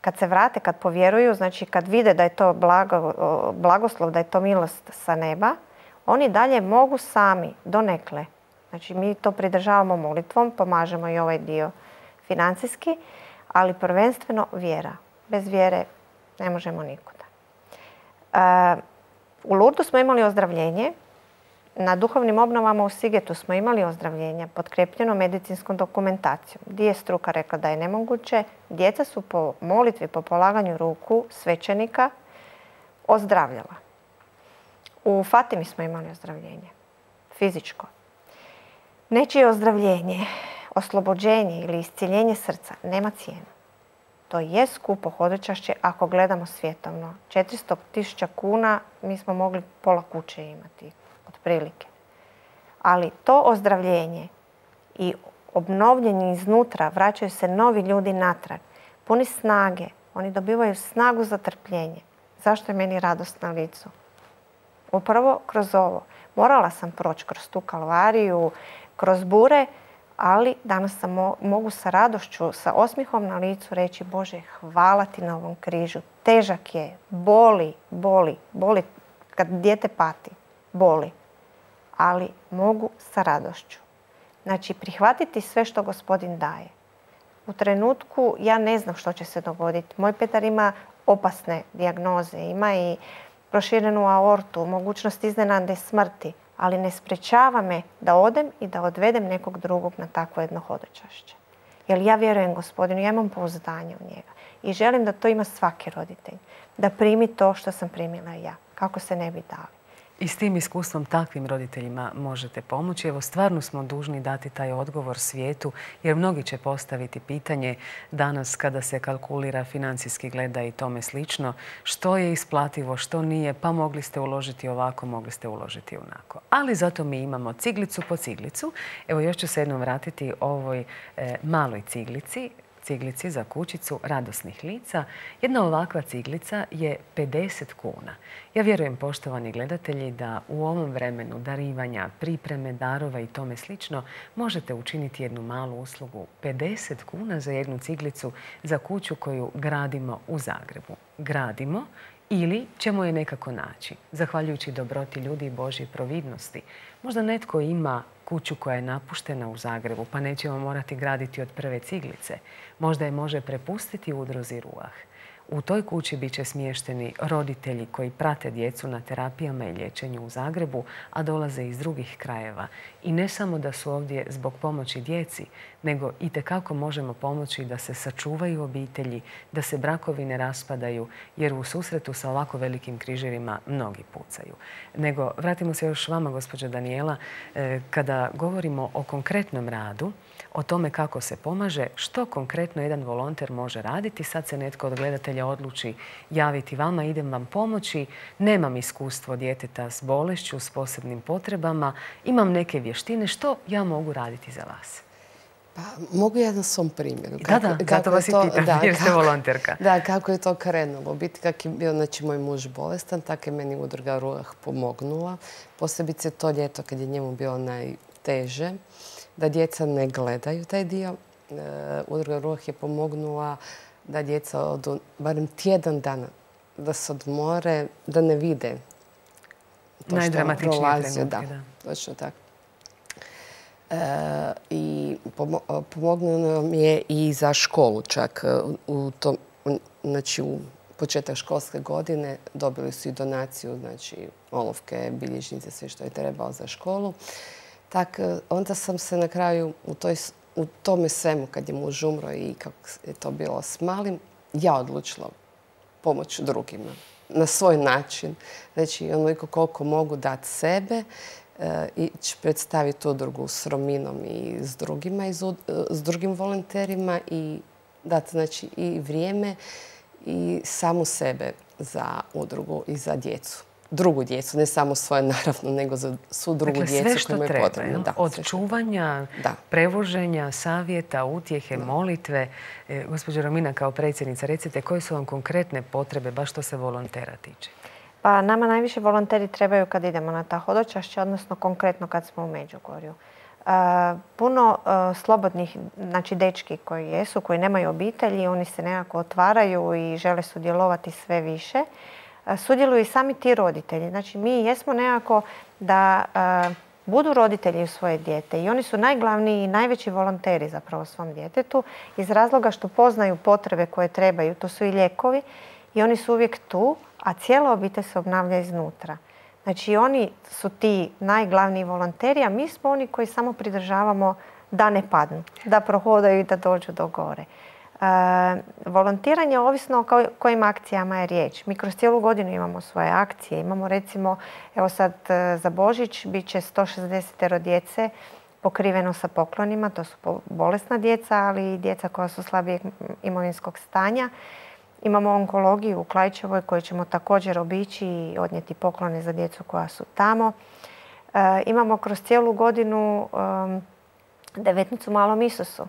Kad se vrate, kad povjeruju, znači kad vide da je to blagoslov, da je to milost sa neba, oni dalje mogu sami, donekle. Znači mi to pridržavamo molitvom, pomažemo i ovaj dio financijski, ali prvenstveno vjera. Bez vjere ne možemo nikuda. U Lurdu smo imali ozdravljenje. Na duhovnim obnovama u Sigetu smo imali ozdravljenja potkrepljeno medicinskom dokumentacijom. Gdje je struka rekla da je nemoguće, djeca su po molitvi, po polaganju ruku svećenika ozdravljala. U Fatimi smo imali ozdravljenje, fizičko. Nečije ozdravljenje, oslobođenje ili iscjeljenje srca nema cijenu. To je skupo hodočašće ako gledamo svjetovno. 400.000 kuna mi smo mogli pola kuće imati, otprilike. Ali to ozdravljenje i obnovljenje iznutra, vraćaju se novi ljudi natrag, puni snage. Oni dobivaju snagu za trpljenje. Zašto je meni radost na licu? Upravo kroz ovo. Morala sam proći kroz tu kalvariju, kroz bure, ali danas mogu sa radošću, sa osmihom na licu reći Bože, hvala ti na ovom križu. Težak je, boli. Kad dijete pati, boli. Ali mogu sa radošću. Znači, prihvatiti sve što Gospodin daje. U trenutku ja ne znam što će se dogoditi. Moj Petar ima opasne dijagnoze, ima i proširenu aortu, mogućnost iznenadne smrti, ali ne sprečava me da odem i da odvedem nekog drugog na takvo jedno hodočašće. Jer ja vjerujem Gospodinu, ja imam pouzdanje u njega i želim da to ima svaki roditelj. Da primi to što sam primila ja, kako se ne bi dali.
I s tim iskustvom takvim roditeljima možete pomoći. Evo, stvarno smo dužni dati taj odgovor svijetu, jer mnogi će postaviti pitanje danas kada se kalkulira, financijski gleda i tome slično, što je isplativo, što nije, pa mogli ste uložiti ovako, mogli ste uložiti onako. Ali zato mi imamo ciglicu po ciglicu. Evo, još ću se jednom vratiti ovoj maloj ciglici za kućicu radosnih lica. Jedna ovakva ciglica je 50 kuna. Ja vjerujem, poštovani gledatelji, da u ovom vremenu darivanja, pripreme, darova i tome slično možete učiniti jednu malu uslugu. 50 kuna za jednu ciglicu za kuću koju gradimo u Zagrebu. Gradimo ili ćemo je nekako naći, zahvaljujući dobroti ljudi i Božjoj providnosti. Možda netko ima kuću koja je napuštena u Zagrebu, pa nećemo morati graditi od prve ciglice. Možda je može prepustiti udruzi Ruah. U toj kući bit će smješteni roditelji koji prate djecu na terapijama i liječenju u Zagrebu, a dolaze iz drugih krajeva. I ne samo da su ovdje zbog pomoći djeci, nego itekako možemo pomoći da se sačuvaju obitelji, da se brakovi ne raspadaju, jer u susretu sa ovako velikim križevima mnogi pucaju. Nego, vratimo se još vama, gospođo Danijela, kada govorimo o konkretnom radu, o tome kako se pomaže, što konkretno jedan volonter može raditi. Sad se netko od gledatelja odluči javiti vama, idem vam pomoći, nemam iskustvo djeteta s bolešću, s posebnim potrebama, imam neke vještine, što ja mogu raditi za vas?
Pa, mogu ja na svom primjeru.
Da, zato vas i pitam, jer ste volonterka.
Da, kako je to krenulo. Biti kak je bio, znači, moj muž bolestan, tako je meni udruga Ruah pomognula. Posebice to ljeto kad je njemu bilo najteže, da djeca ne gledaju taj dio. Udruga Ruah je pomognula da djeca odu barem tjedan dana, da se odmore, da ne vide to što prolazi. Da, točno tako. I pomognuo nam je i za školu čak. Znači, u početak školske godine dobili su i donaciju, znači olovke, bilježnice, sve što je trebalo za školu. Tak, onda sam se na kraju u tome svemu, kad je muž umro i kako je to bilo s malim, ja odlučila pomoć drugima na svoj način. Znači, onoliko koliko mogu dati sebe, ići predstaviti udrugu s Rominom i s drugima, s drugim volonterima i dati znači, i vrijeme i samu sebe za udrugu i za djecu. Drugu djecu, ne samo svoje naravno, nego za svu drugu djecu koju imaju potrebno.
Od čuvanja, prevoženja, savjeta, utjehe, molitve. Gospođo Romina, kao predsjednica, recite koje su vam konkretne potrebe, baš što se volontera tiče?
Pa nama najviše volonteri trebaju kad idemo na ta hodočašća, odnosno konkretno kad smo u Međugorju. Puno slobodnih, znači dečki koji jesu, koji nemaju obitelji, oni se nekako otvaraju i žele sudjelovati sve više. Sudjeluju i sami ti roditelji. Znači mi jesmo nekako da budu roditelji u svoje dijete i oni su najglavniji i najveći volonteri zapravo svom djetetu iz razloga što poznaju potrebe koje trebaju. To su i lijekovi i oni su uvijek tu, a cijela obitelj se obnavlja iznutra. Znači oni su ti najglavniji volonteri, a mi smo oni koji samo pridržavamo da ne padnu, da prohodaju i da dođu do gore. Volontiranje ovisno o kojim akcijama je riječ. Mi kroz cijelu godinu imamo svoje akcije. Imamo recimo, evo sad za Božić, bit će 160 djece pokriveno sa poklonima. To su bolesna djeca, ali i djeca koja su slabijeg imovinskog stanja. Imamo onkologiju u Klaićevoj koju ćemo također obići i odnijeti poklone za djecu koja su tamo. Imamo kroz cijelu godinu devetnicu Malom Isusu.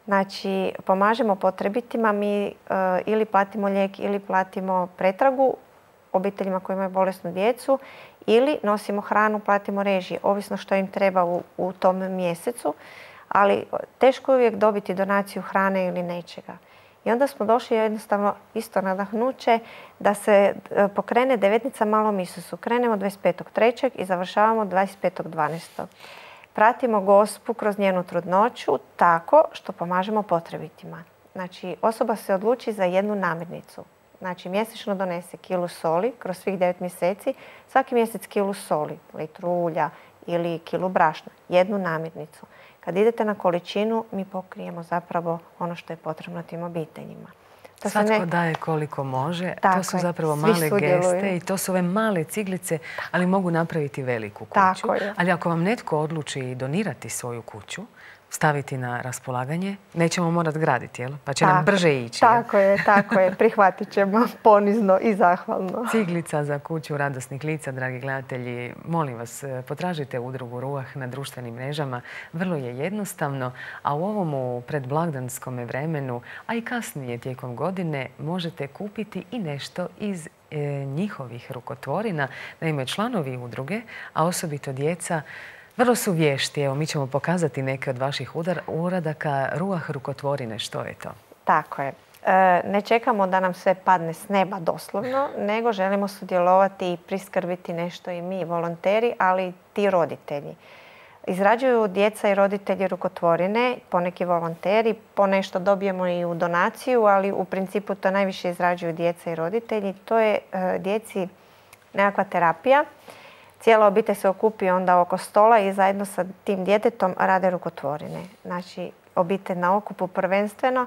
Znači, pomažemo potrebitima, mi ili platimo lijek ili platimo pretragu obiteljima koji imaju bolesnu djecu ili nosimo hranu, platimo režije, ovisno što im treba u tom mjesecu, ali teško je uvijek dobiti donaciju hrane ili nečega. I onda smo došli jednostavno isto nadahnuće da se pokrene devetnica Malom Isusu. Krenemo 25.3. i završavamo 25.12. Pratimo Gospu kroz njenu trudnoću tako što pomažemo potrebitima. Znači, osoba se odluči za jednu namirnicu. Znači, mjesečno donese kilu soli kroz svih 9 mjeseci, svaki mjesec kilu soli, litru ulja ili kilu brašna, jednu namirnicu. Kad idete na količinu, mi pokrijemo zapravo ono što je potrebno tim obiteljima.
Svatko daje koliko može. To su zapravo male geste i to su ove male ciglice, ali mogu napraviti veliku kuću. Ali ako vam netko odluči donirati svoju kuću, staviti na raspolaganje, nećemo morati graditi, jel? Pa će nam brže ići.
Tako je. Prihvatit ćemo ponizno i zahvalno.
Ciglica za kuću radosnih lica, dragi gledatelji. Molim vas, potražite udrugu Ruah na društvenim mrežama. Vrlo je jednostavno, a u ovom predblagdanskom vremenu, a i kasnije tijekom godine, možete kupiti i nešto iz njihovih rukotvorina. Naime, članovi udruge, a osobito djeca, vrlo su vješti. Evo, mi ćemo pokazati neke od vaših uradaka. Ruah rukotvorine, što je to?
Tako je. Ne čekamo da nam sve padne s neba doslovno, nego želimo sudjelovati i priskrbiti nešto i mi, volonteri, ali i ti roditelji. Izrađuju djeca i roditelji rukotvorine, poneki volonteri, ponešto dobijemo i u donaciju, ali u principu to najviše izrađuju djeca i roditelji. To je djeci nekakva terapija. Cijela obitelj se okupi onda oko stola i zajedno sa tim djetetom rade rukotvorine. Znači, obitelj na okupu prvenstveno.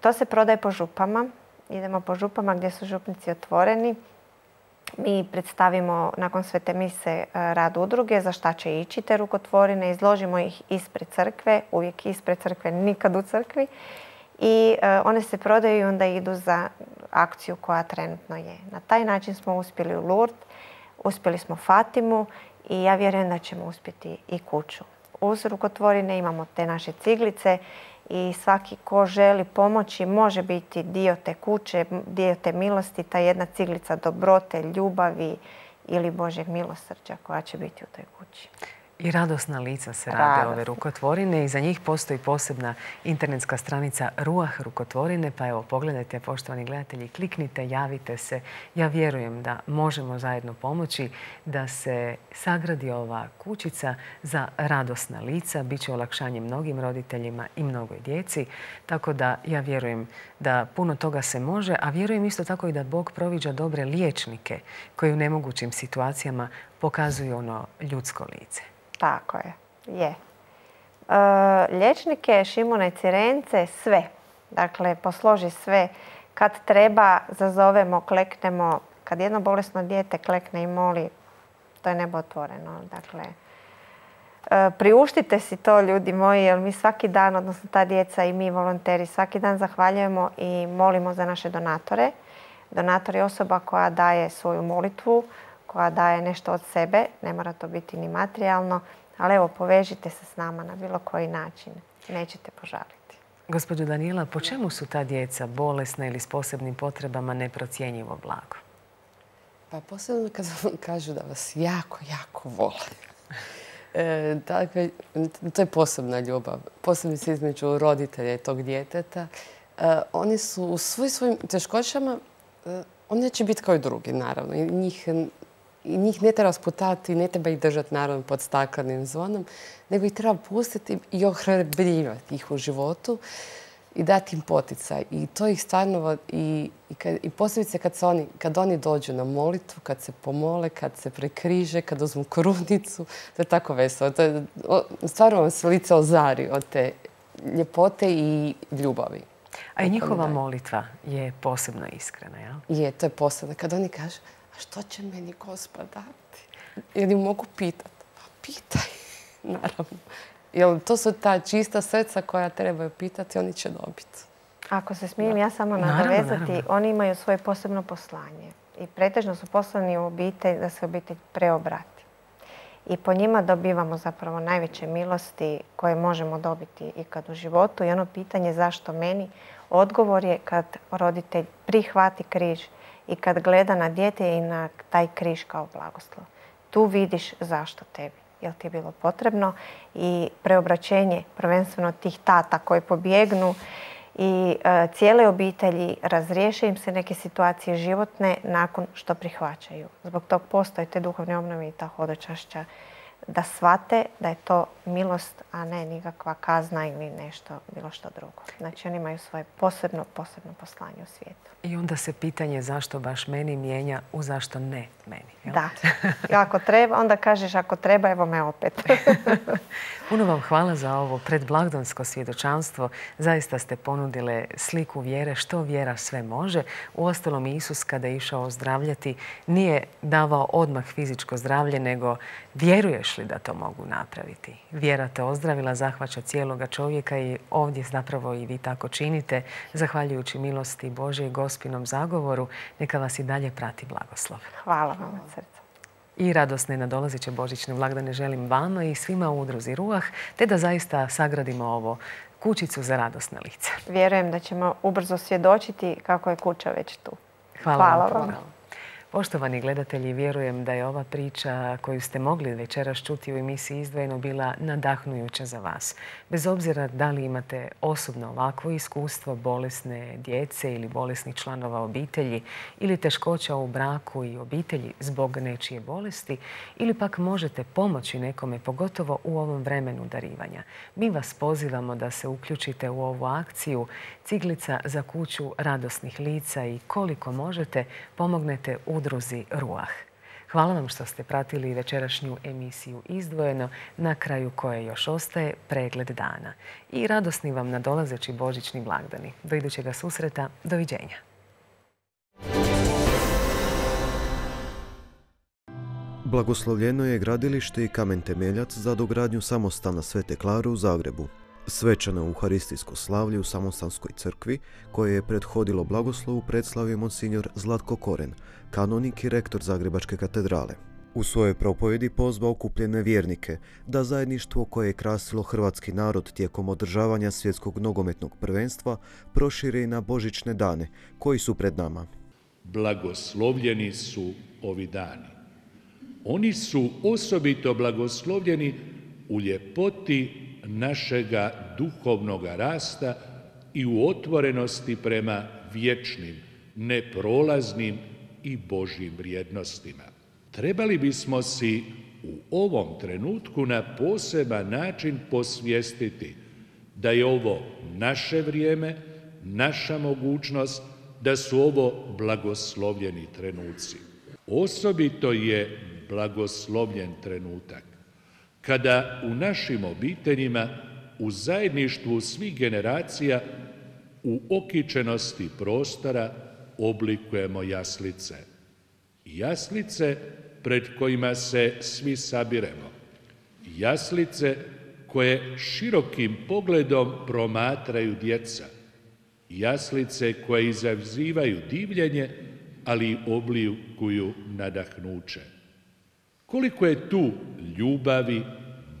To se prodaje po župama. Idemo po župama gdje su župnici otvoreni. Mi predstavimo nakon svete mise rad udruge za šta će ići te rukotvorine. Izložimo ih ispred crkve, uvijek ispred crkve, nikad u crkvi. I one se prodaju i onda idu za akciju koja trenutno je. Na taj način smo uspjeli u Lourdes. Uspjeli smo Fatimu i ja vjerujem da ćemo uspjeti i kuću. Uz rukotvorine imamo te naše ciglice i svaki ko želi pomoći može biti dio te kuće, dio te milosti, ta jedna ciglica dobrote, ljubavi ili Božjeg milosrđa koja će biti u toj kući.
I radosna lica se rade ove rukotvorine i za njih postoji posebna internetska stranica Ruah rukotvorine. Pa evo, pogledajte, poštovani gledatelji, kliknite, javite se. Ja vjerujem da možemo zajedno pomoći da se sagradi ova kućica za radosna lica. Biće olakšanje mnogim roditeljima i mnogoj djeci. Tako da ja vjerujem da puno toga se može, a vjerujem isto tako i da Bog proviđa dobre liječnike koji u nemogućim situacijama pokazuju ono ljudsko lice.
Tako je. Liječnike, Šimuna i Cirence, sve. Dakle, posloži sve Kad treba, zazovemo, kleknemo. Kad jedno bolesno dijete klekne i moli, to je nebo otvoreno. Dakle, priuštite si to, ljudi moji, jer mi svaki dan, odnosno ta djeca i mi volonteri, svaki dan zahvaljujemo i molimo za naše donatore. Donator je osoba koja daje svoju molitvu, koja daje nešto od sebe, ne mora to biti ni materijalno, ali evo, povežite se s nama na bilo koji način. Nećete požaliti.
Gospođo Danijela, po čemu su ta djeca bolesna ili s posebnim potrebama neprocjenjivo blago?
Pa posebno kad vam kažu da vas jako, jako vole. Dakle, to je posebna ljubav. Posebno se između roditelja i tog djeteta. Oni su u svojim teškoćama, oni neće biti kao i drugi, naravno. I njih ne treba sputati, ne treba ih držati, naravno, pod staklenim zvonom, nego ih treba pustiti i ohrabrivati ih u životu i dati im poticaj. I to ih stvarno, i posebice kad oni dođu na molitvu, kad se pomole, kad se prekriže, kad uzmu krunicu, to je tako veselo. Stvarno vam se lice ozari od te ljepote i ljubavi.
A i njihova molitva je posebno iskrena, jel?
Je, to je posebno. Kad oni kažu, a što će meni Gospod dati? Ili mogu pitati? Pa pitaj, naravno. Jer to su ta čista srca koja trebaju pitati, oni će dobiti.
Ako se smijem ja samo nadovezati, oni imaju svoje posebno poslanje. I pretežno su poslani u obitelj da se obitelj preobrati. I po njima dobivamo zapravo najveće milosti koje možemo dobiti i kad u životu. I ono pitanje zašto meni, odgovor je kad roditelj prihvati križ i kad gleda na dijete i na taj križ kao blagoslov. Tu vidiš zašto tebi. Jel ti je bilo potrebno i preobraćenje prvenstveno tih tata koji pobjegnu i cijele obitelji, razriješe im se neke situacije životne nakon što prihvaćaju. Zbog tog postoje te duhovne obnove i ta hodočašća da shvate da je to milost, a ne nikakva kazna ili nešto, bilo što drugo. Znači oni imaju svoje posebno poslanje u svijetu.
I onda se pitanje zašto baš meni mijenja u zašto ne meni. Jel?
Da. I ako treba, onda kažeš ako treba, evo me opet.
Puno vam hvala za ovo predblagdansko svjedočanstvo. Zaista ste ponudile sliku vjere, što vjera sve može. Uostalom, Isus kada je išao ozdravljati nije davao odmah fizičko zdravlje, nego vjeruješ li da to mogu napraviti? Vjera te ozdravila, zahvaća cijeloga čovjeka i ovdje zapravo i vi tako činite. Zahvaljujući milosti Božje i Gospinom zagovoru, neka vas i dalje prati blagoslov.
Hvala vam od srca.
I radosne nadolazeće božićne blagdane želim vama i svima u udruzi Ruah, te da zaista sagradimo ovo kućicu za radosna lica.
Vjerujem da ćemo ubrzo svjedočiti kako je kuća već tu.
Hvala vam. Poštovani gledatelji, vjerujem da je ova priča koju ste mogli večeras čuti u emisiji Izdvojeno bila nadahnujuća za vas. Bez obzira da li imate osobno ovakvo iskustvo bolesne djece ili bolesnih članova obitelji ili teškoća u braku i obitelji zbog nečije bolesti ili pak možete pomoći nekome, pogotovo u ovom vremenu darivanja. Mi vas pozivamo da se uključite u ovu akciju Ciglica za kuću radosnih lica i koliko možete pomognete udruzi Ruah. Hvala vam što ste pratili večerašnju emisiju Izdvojeno, na kraju koje još ostaje pregled dana. I radosni vam nadolazeći božićni blagdani. Do idućega susreta, doviđenja.
Blagoslovljeno je gradilište i kamen temeljac za dogradnju samostana Svete Klare u Zagrebu. Svečano euharistijsko slavlje u Samostanskoj crkvi, koje je prethodilo blagoslovu, predslavio monsignor Zlatko Koren, kanonik i rektor Zagrebačke katedrale. U svojoj propovjedi pozvao okupljene vjernike da zajedništvo koje je krasilo hrvatski narod tijekom održavanja svjetskog nogometnog prvenstva prošire i na božićne dane koji su pred nama.
Blagoslovljeni su ovi dani. Oni su osobito blagoslovljeni u ljepoti našega duhovnoga rasta i u otvorenosti prema vječnim, neprolaznim i Božjim vrijednostima. Trebali bismo si u ovom trenutku na poseban način posvijestiti da je ovo naše vrijeme, naša mogućnost, da su ovo blagoslovljeni trenuci. Osobito je blagoslovljen trenutak kada u našim obiteljima, u zajedništvu svih generacija, u okičenosti prostora oblikujemo jaslice. Jaslice pred kojima se svi sabiremo. Jaslice koje širokim pogledom promatraju djeca. Jaslice koje izazivaju divljenje, ali i oblikuju nadahnuće. Koliko je tu ljubavi,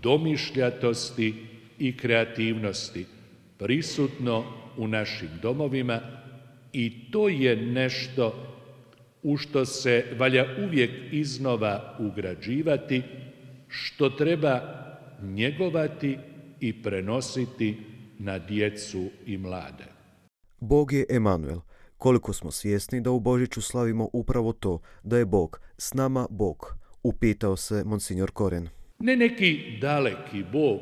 domišljatosti i kreativnosti prisutno u našim domovima i to je nešto u što se valja uvijek iznova ugrađivati, što treba njegovati i prenositi na djecu i mlade.
Bog je Emanuel. Koliko smo svjesni da u Božiću slavimo upravo to, da je Bog, s nama Bog, upitao se monsignor Koren.
Ne neki daleki Bog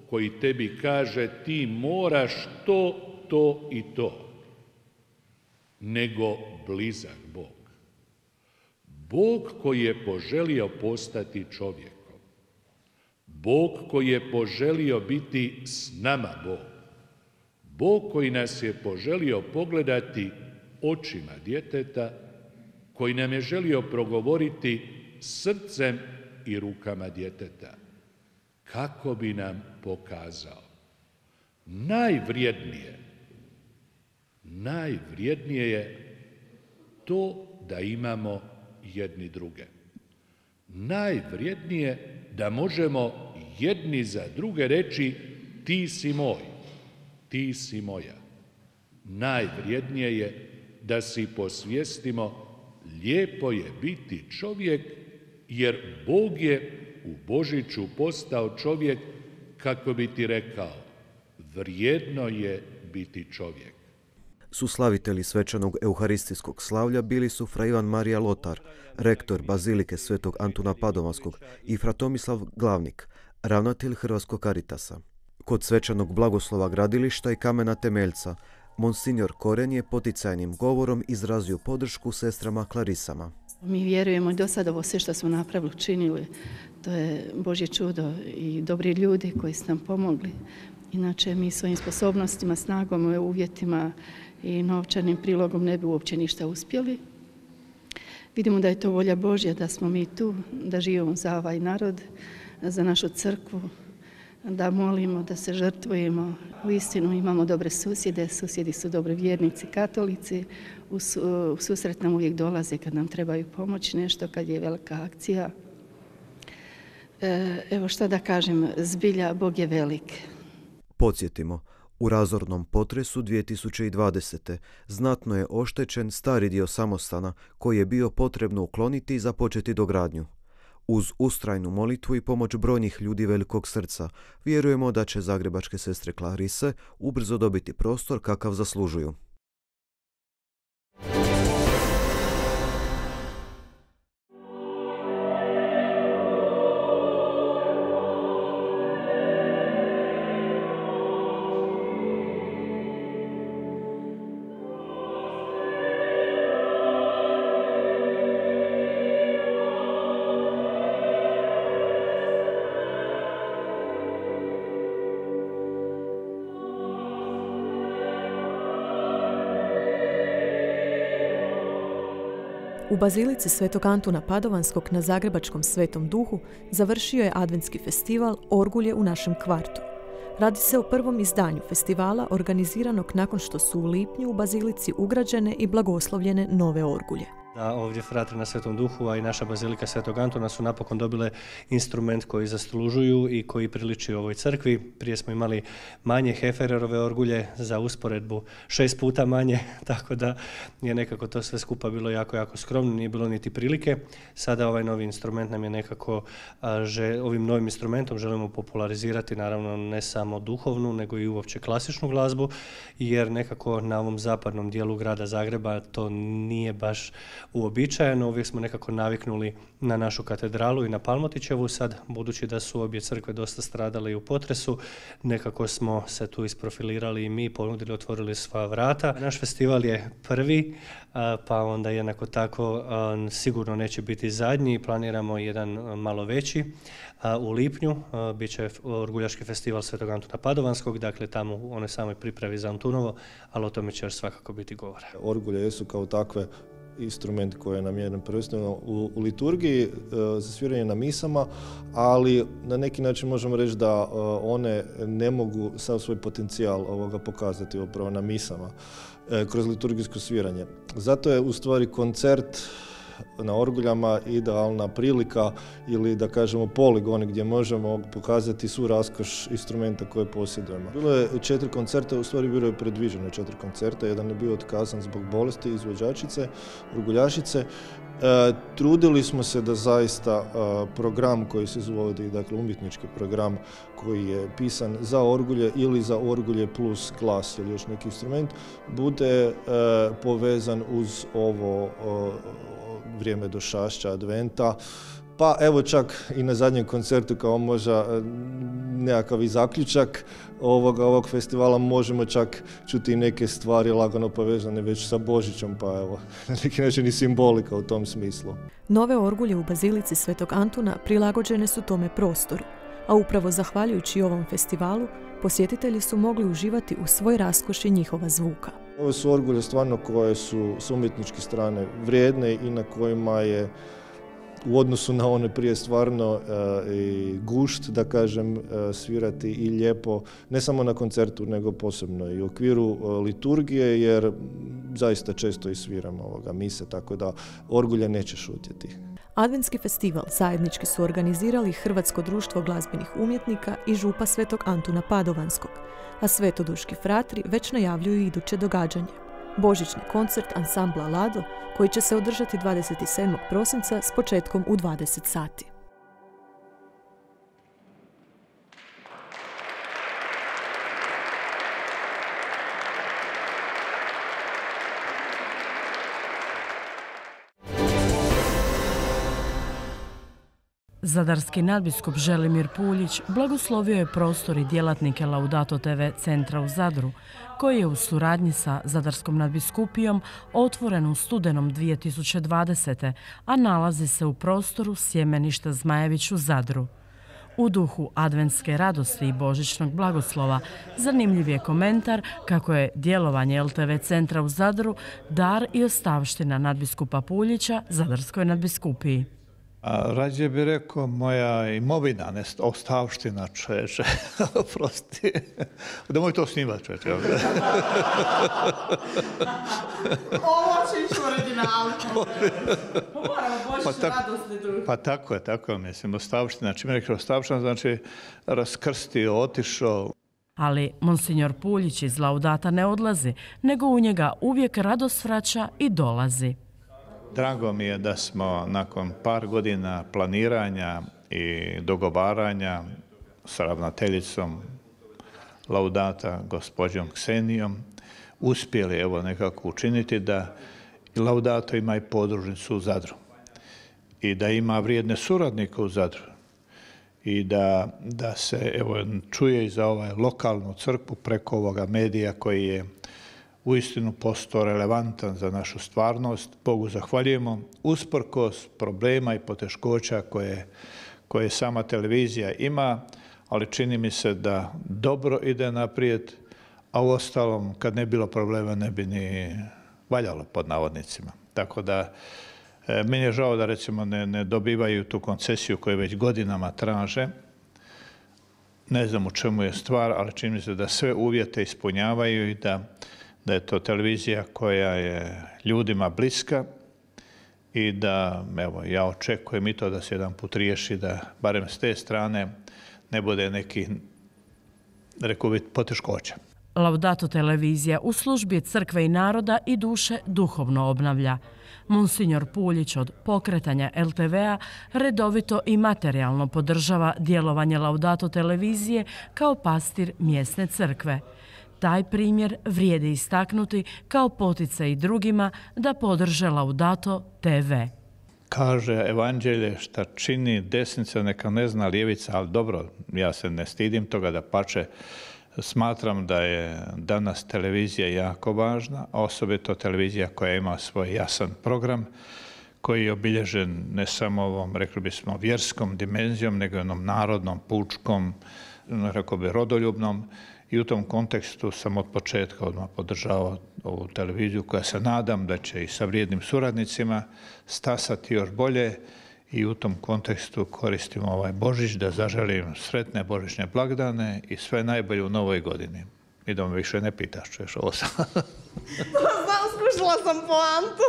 koji tebi kaže ti moraš to i to, nego blizak Bog. Bog koji je poželio postati čovjekom. Bog koji je poželio biti s nama Bog. Bog koji nas je poželio pogledati očima djeteta, koji nam je želio progovoriti srcem i rukama djeteta, kako bi nam pokazao najvrijednije je to da imamo jedni druge. Najvrijednije da možemo jedni za druge reći ti si moj, ti si moja. Najvrijednije je da si posvijestimo lijepo je biti čovjek, jer Bog je u Božiću postao čovjek kako bi ti rekao, vrijedno je biti čovjek.
Suslavitelji svečanog euharistijskog slavlja bili su fra Ivan Marija Lotar, rektor Bazilike Svetog Antuna Padovanskog, i fra Tomislav Glavnik, ravnatelj Hrvatskog Caritasa. Kod svečanog blagoslova gradilišta i kamena temeljca, monsignor Koren je poticajnim govorom izrazio podršku sestrama Klarisama.
Mi vjerujemo i do sada ovo sve što smo napravili, učinili, to je Božje čudo i dobri ljudi koji su nam pomogli. Inače, mi svojim sposobnostima, snagom, uvjetima i novčanim prilogom ne bi uopće ništa uspjeli. Vidimo da je to volja Božja, da smo mi tu, da živimo za ovaj narod, za našu crkvu, da molimo, da se žrtvujemo. Uistinu imamo dobre susjede, susjedi su dobri vjernici, katolici. U susret nam uvijek dolaze kad nam trebaju pomoć nešto, kad je velika akcija. Evo šta da kažem, zbilja Bog je velik.
Podsjetimo, u razornom potresu 2020. znatno je oštećen stari dio samostana koji je bio potrebno ukloniti i započeti dogradnju. Uz ustrajnu molitvu i pomoć brojnih ljudi velikog srca, vjerujemo da će zagrebačke sestre Klarise ubrzo dobiti prostor kakav zaslužuju.
U Bazilici Svetog Antuna Padovanskog na zagrebačkom Svetom Duhu završio je adventski festival Orgulje u našem kvartu. Radi se o prvom izdanju festivala organiziranog nakon što su u lipnju u Bazilici ugrađene i blagoslovljene nove orgulje.
Da ovdje fratri na Svetom Duhu, a i naša Bazilika Svetog Antuna su napokon dobile instrument koji zaslužuju i koji priliči ovoj crkvi. Prije smo imali manje Hefererove orgulje, za usporedbu 6 puta manje, tako da je nekako to sve skupa bilo jako skromno, nije bilo niti prilike. Sada ovaj novi instrument nam je nekako, ovim novim instrumentom želimo popularizirati naravno ne samo duhovnu, nego i uopće klasičnu glazbu, jer nekako na ovom zapadnom dijelu grada Zagreba to nije baš uobičajeno. Uvijek smo nekako naviknuli na našu katedralu i na Palmotićevu. Sad, budući da su obje crkve dosta stradale i u potresu, nekako smo se tu isprofilirali i mi, ponudili, otvorili sva vrata. Naš festival je prvi, pa onda jednako tako sigurno neće biti zadnji. Planiramo jedan malo veći u lipnju. Biće Orguljaški festival Svetog Antuna Padovanskog, dakle tamo u onoj samoj pripravi za Antunovo, ali o tome će još svakako biti govora.
Orgulje jesu kao takve instrument koji je namijenjen prvenstveno u liturgiji za sviranje na misama, ali na neki način možemo reći da one ne mogu sav svoj potencijal ovoga pokazati upravo na misama kroz liturgijsko sviranje. Zato je u stvari koncert na orguljama idealna prilika ili da kažemo poligon gdje možemo pokazati svu raskoš instrumenta koje posjedujemo. Bilo je 4 koncerta, u stvari bilo je predviđeno 4 koncerta, jedan je bio otkazan zbog bolesti izvođačice, orguljašice. Trudili smo se da zaista program koji se izvodi, dakle umjetnički program koji je pisan za orgulje ili za orgulje plus glas ili još neki instrument, bude povezan uz ovo vrijeme došašća, adventa. Pa evo čak i na zadnjem koncertu kao možda nekakav i zaključak ovog festivala možemo čak čuti neke stvari lagano povezane već sa Božićom, pa evo na neki način i simbolika u tom smislu.
Nove orgulje u Bazilici Svetog Antuna prilagođene su tome prostoru, a upravo zahvaljujući ovom festivalu posjetitelji su mogli uživati u svoj raskoši njihova zvuka.
Ovo su orgulje stvarno koje su s umjetničke strane vrijedne i na kojima je u odnosu na one prije stvarno i gušt, da kažem, svirati i lijepo, ne samo na koncertu, nego posebno i u okviru liturgije, jer zaista često i sviramo mise, tako da orgulje neće šutjeti.
Adventski festival zajednički su organizirali Hrvatsko društvo glazbenih umjetnika i župa Svetog Antuna Padovanskog, a svetoduški fratri već najavljuju iduće događanje. Božićni koncert ansambla Lado, koji će se održati 27. prosinca s početkom u 20 sati.
Zadarski nadbiskup Želimir Puljić blagoslovio je prostor i djelatnike Laudato TV centra u Zadru, koji je u suradnji sa Zadarskom nadbiskupijom otvoren u studenom 2020. a nalazi se u prostoru Sjemeništa Zmajević u Zadru. U duhu adventske radosti i božićnog blagoslova zanimljiv je komentar kako je djelovanje LTV centra u Zadru dar i ostavština nadbiskupa Puljića Zadarskoj nadbiskupiji.
Rađe bi rekao moja imovina, ne ostavština, čoveče. Oprosti. Nemoj to snimati, čoveče.
Ovo će ići u originalu. Moramo božiću radosni duh.
Pa tako je, mislim, ostavština. Čim je rekao ostavština, znači raskrstio, otišao.
Ali monsignor Puljić iz Laudata ne odlazi, nego u njega uvijek radost vraća i dolazi.
Drago mi je da smo nakon par godina planiranja i dogovaranja s ravnateljicom Laudata, gospođom Ksenijom, uspjeli evo nekako učiniti da Laudato ima i podružnicu u Zadru i da ima vrijedne suradnike u Zadru i da se evo čuje i za lokalnu crkvu preko ovoga medija koji je uistinu postao relevantan za našu stvarnost. Bogu zahvaljujemo, usprkos problema i poteškoća koje sama televizija ima, ali čini mi se da dobro ide naprijed, a u ostalom, kad ne bilo problema, ne bi ni valjalo, pod navodnicima. Tako da, meni je žao da recimo ne dobivaju tu koncesiju koju već godinama traže. Ne znam u čemu je stvar, ali čini mi se da sve uvjete ispunjavaju i da je to televizija koja je ljudima bliska i da, evo, ja očekujem i to da se jedan put riješi da barem s te strane ne bude neki, rekao bih, poteškoća.
Laudato televizija u službi crkve i naroda i duše duhovno obnavlja. Monsignor Puljić od pokretanja LTV-a redovito i materijalno podržava djelovanje Laudato televizije kao pastir mjesne crkve. Taj primjer vrijedi istaknuti kao poticaj drugima da podrže Laudato TV.
Kaže evanđelje šta čini desnica neka ne zna lijevica, ali dobro, ja se ne stidim toga, dapače. Smatram da je danas televizija jako važna, osobito televizija koja ima svoj jasan program, koji je obilježen ne samo ovom, rekli bismo, vjerskom dimenzijom, nego i onom narodnom, pučkom, rekao bi rodoljubnom. I u tom kontekstu sam od početka odmah podržavao ovu televiziju koja se nadam da će i sa vrijednim suradnicima stasati još bolje i u tom kontekstu koristim ovaj Božić da zaželim sretne božićne blagdane i sve najbolje u novoj godini. I da me više ne pitaš, čuješ ovo sam.
Skušala sam poantu.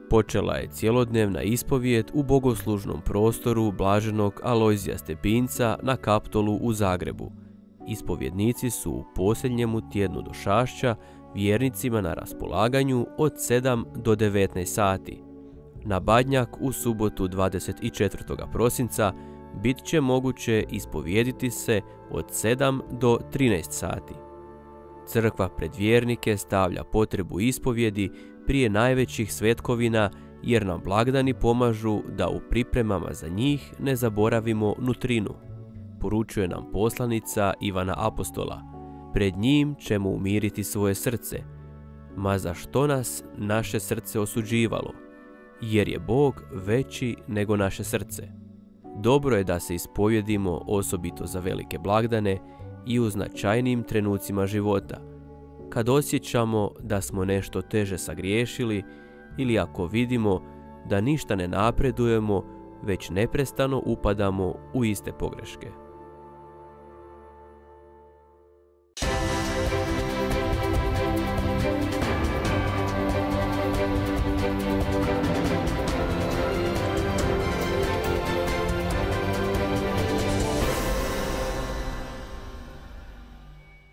Počela je cjelodnevna ispovijed u bogoslužnom prostoru blaženog Alojzija Stepinca na Kaptolu u Zagrebu. Ispovjednici su u posljednjemu tjednu došašća vjernicima na raspolaganju od 7 do 19 sati. Na Badnjak u subotu 24. prosinca bit će moguće ispovijediti se od 7 do 13 sati. Crkva pred vjernike stavlja potrebu ispovjedi prije najvećih svetkovina jer nam blagdani pomažu da u pripremama za njih ne zaboravimo nutrinu. Poručuje nam poslanica Ivana Apostola. Pred njim ćemo umiriti svoje srce. Ma za što nas naše srce osuđivalo? Jer je Bog veći nego naše srce. Dobro je da se ispovjedimo osobito za velike blagdane i u značajnim trenucima života, kad osjećamo da smo nešto teže sagriješili ili ako vidimo da ništa ne napredujemo, već neprestano upadamo u iste pogreške.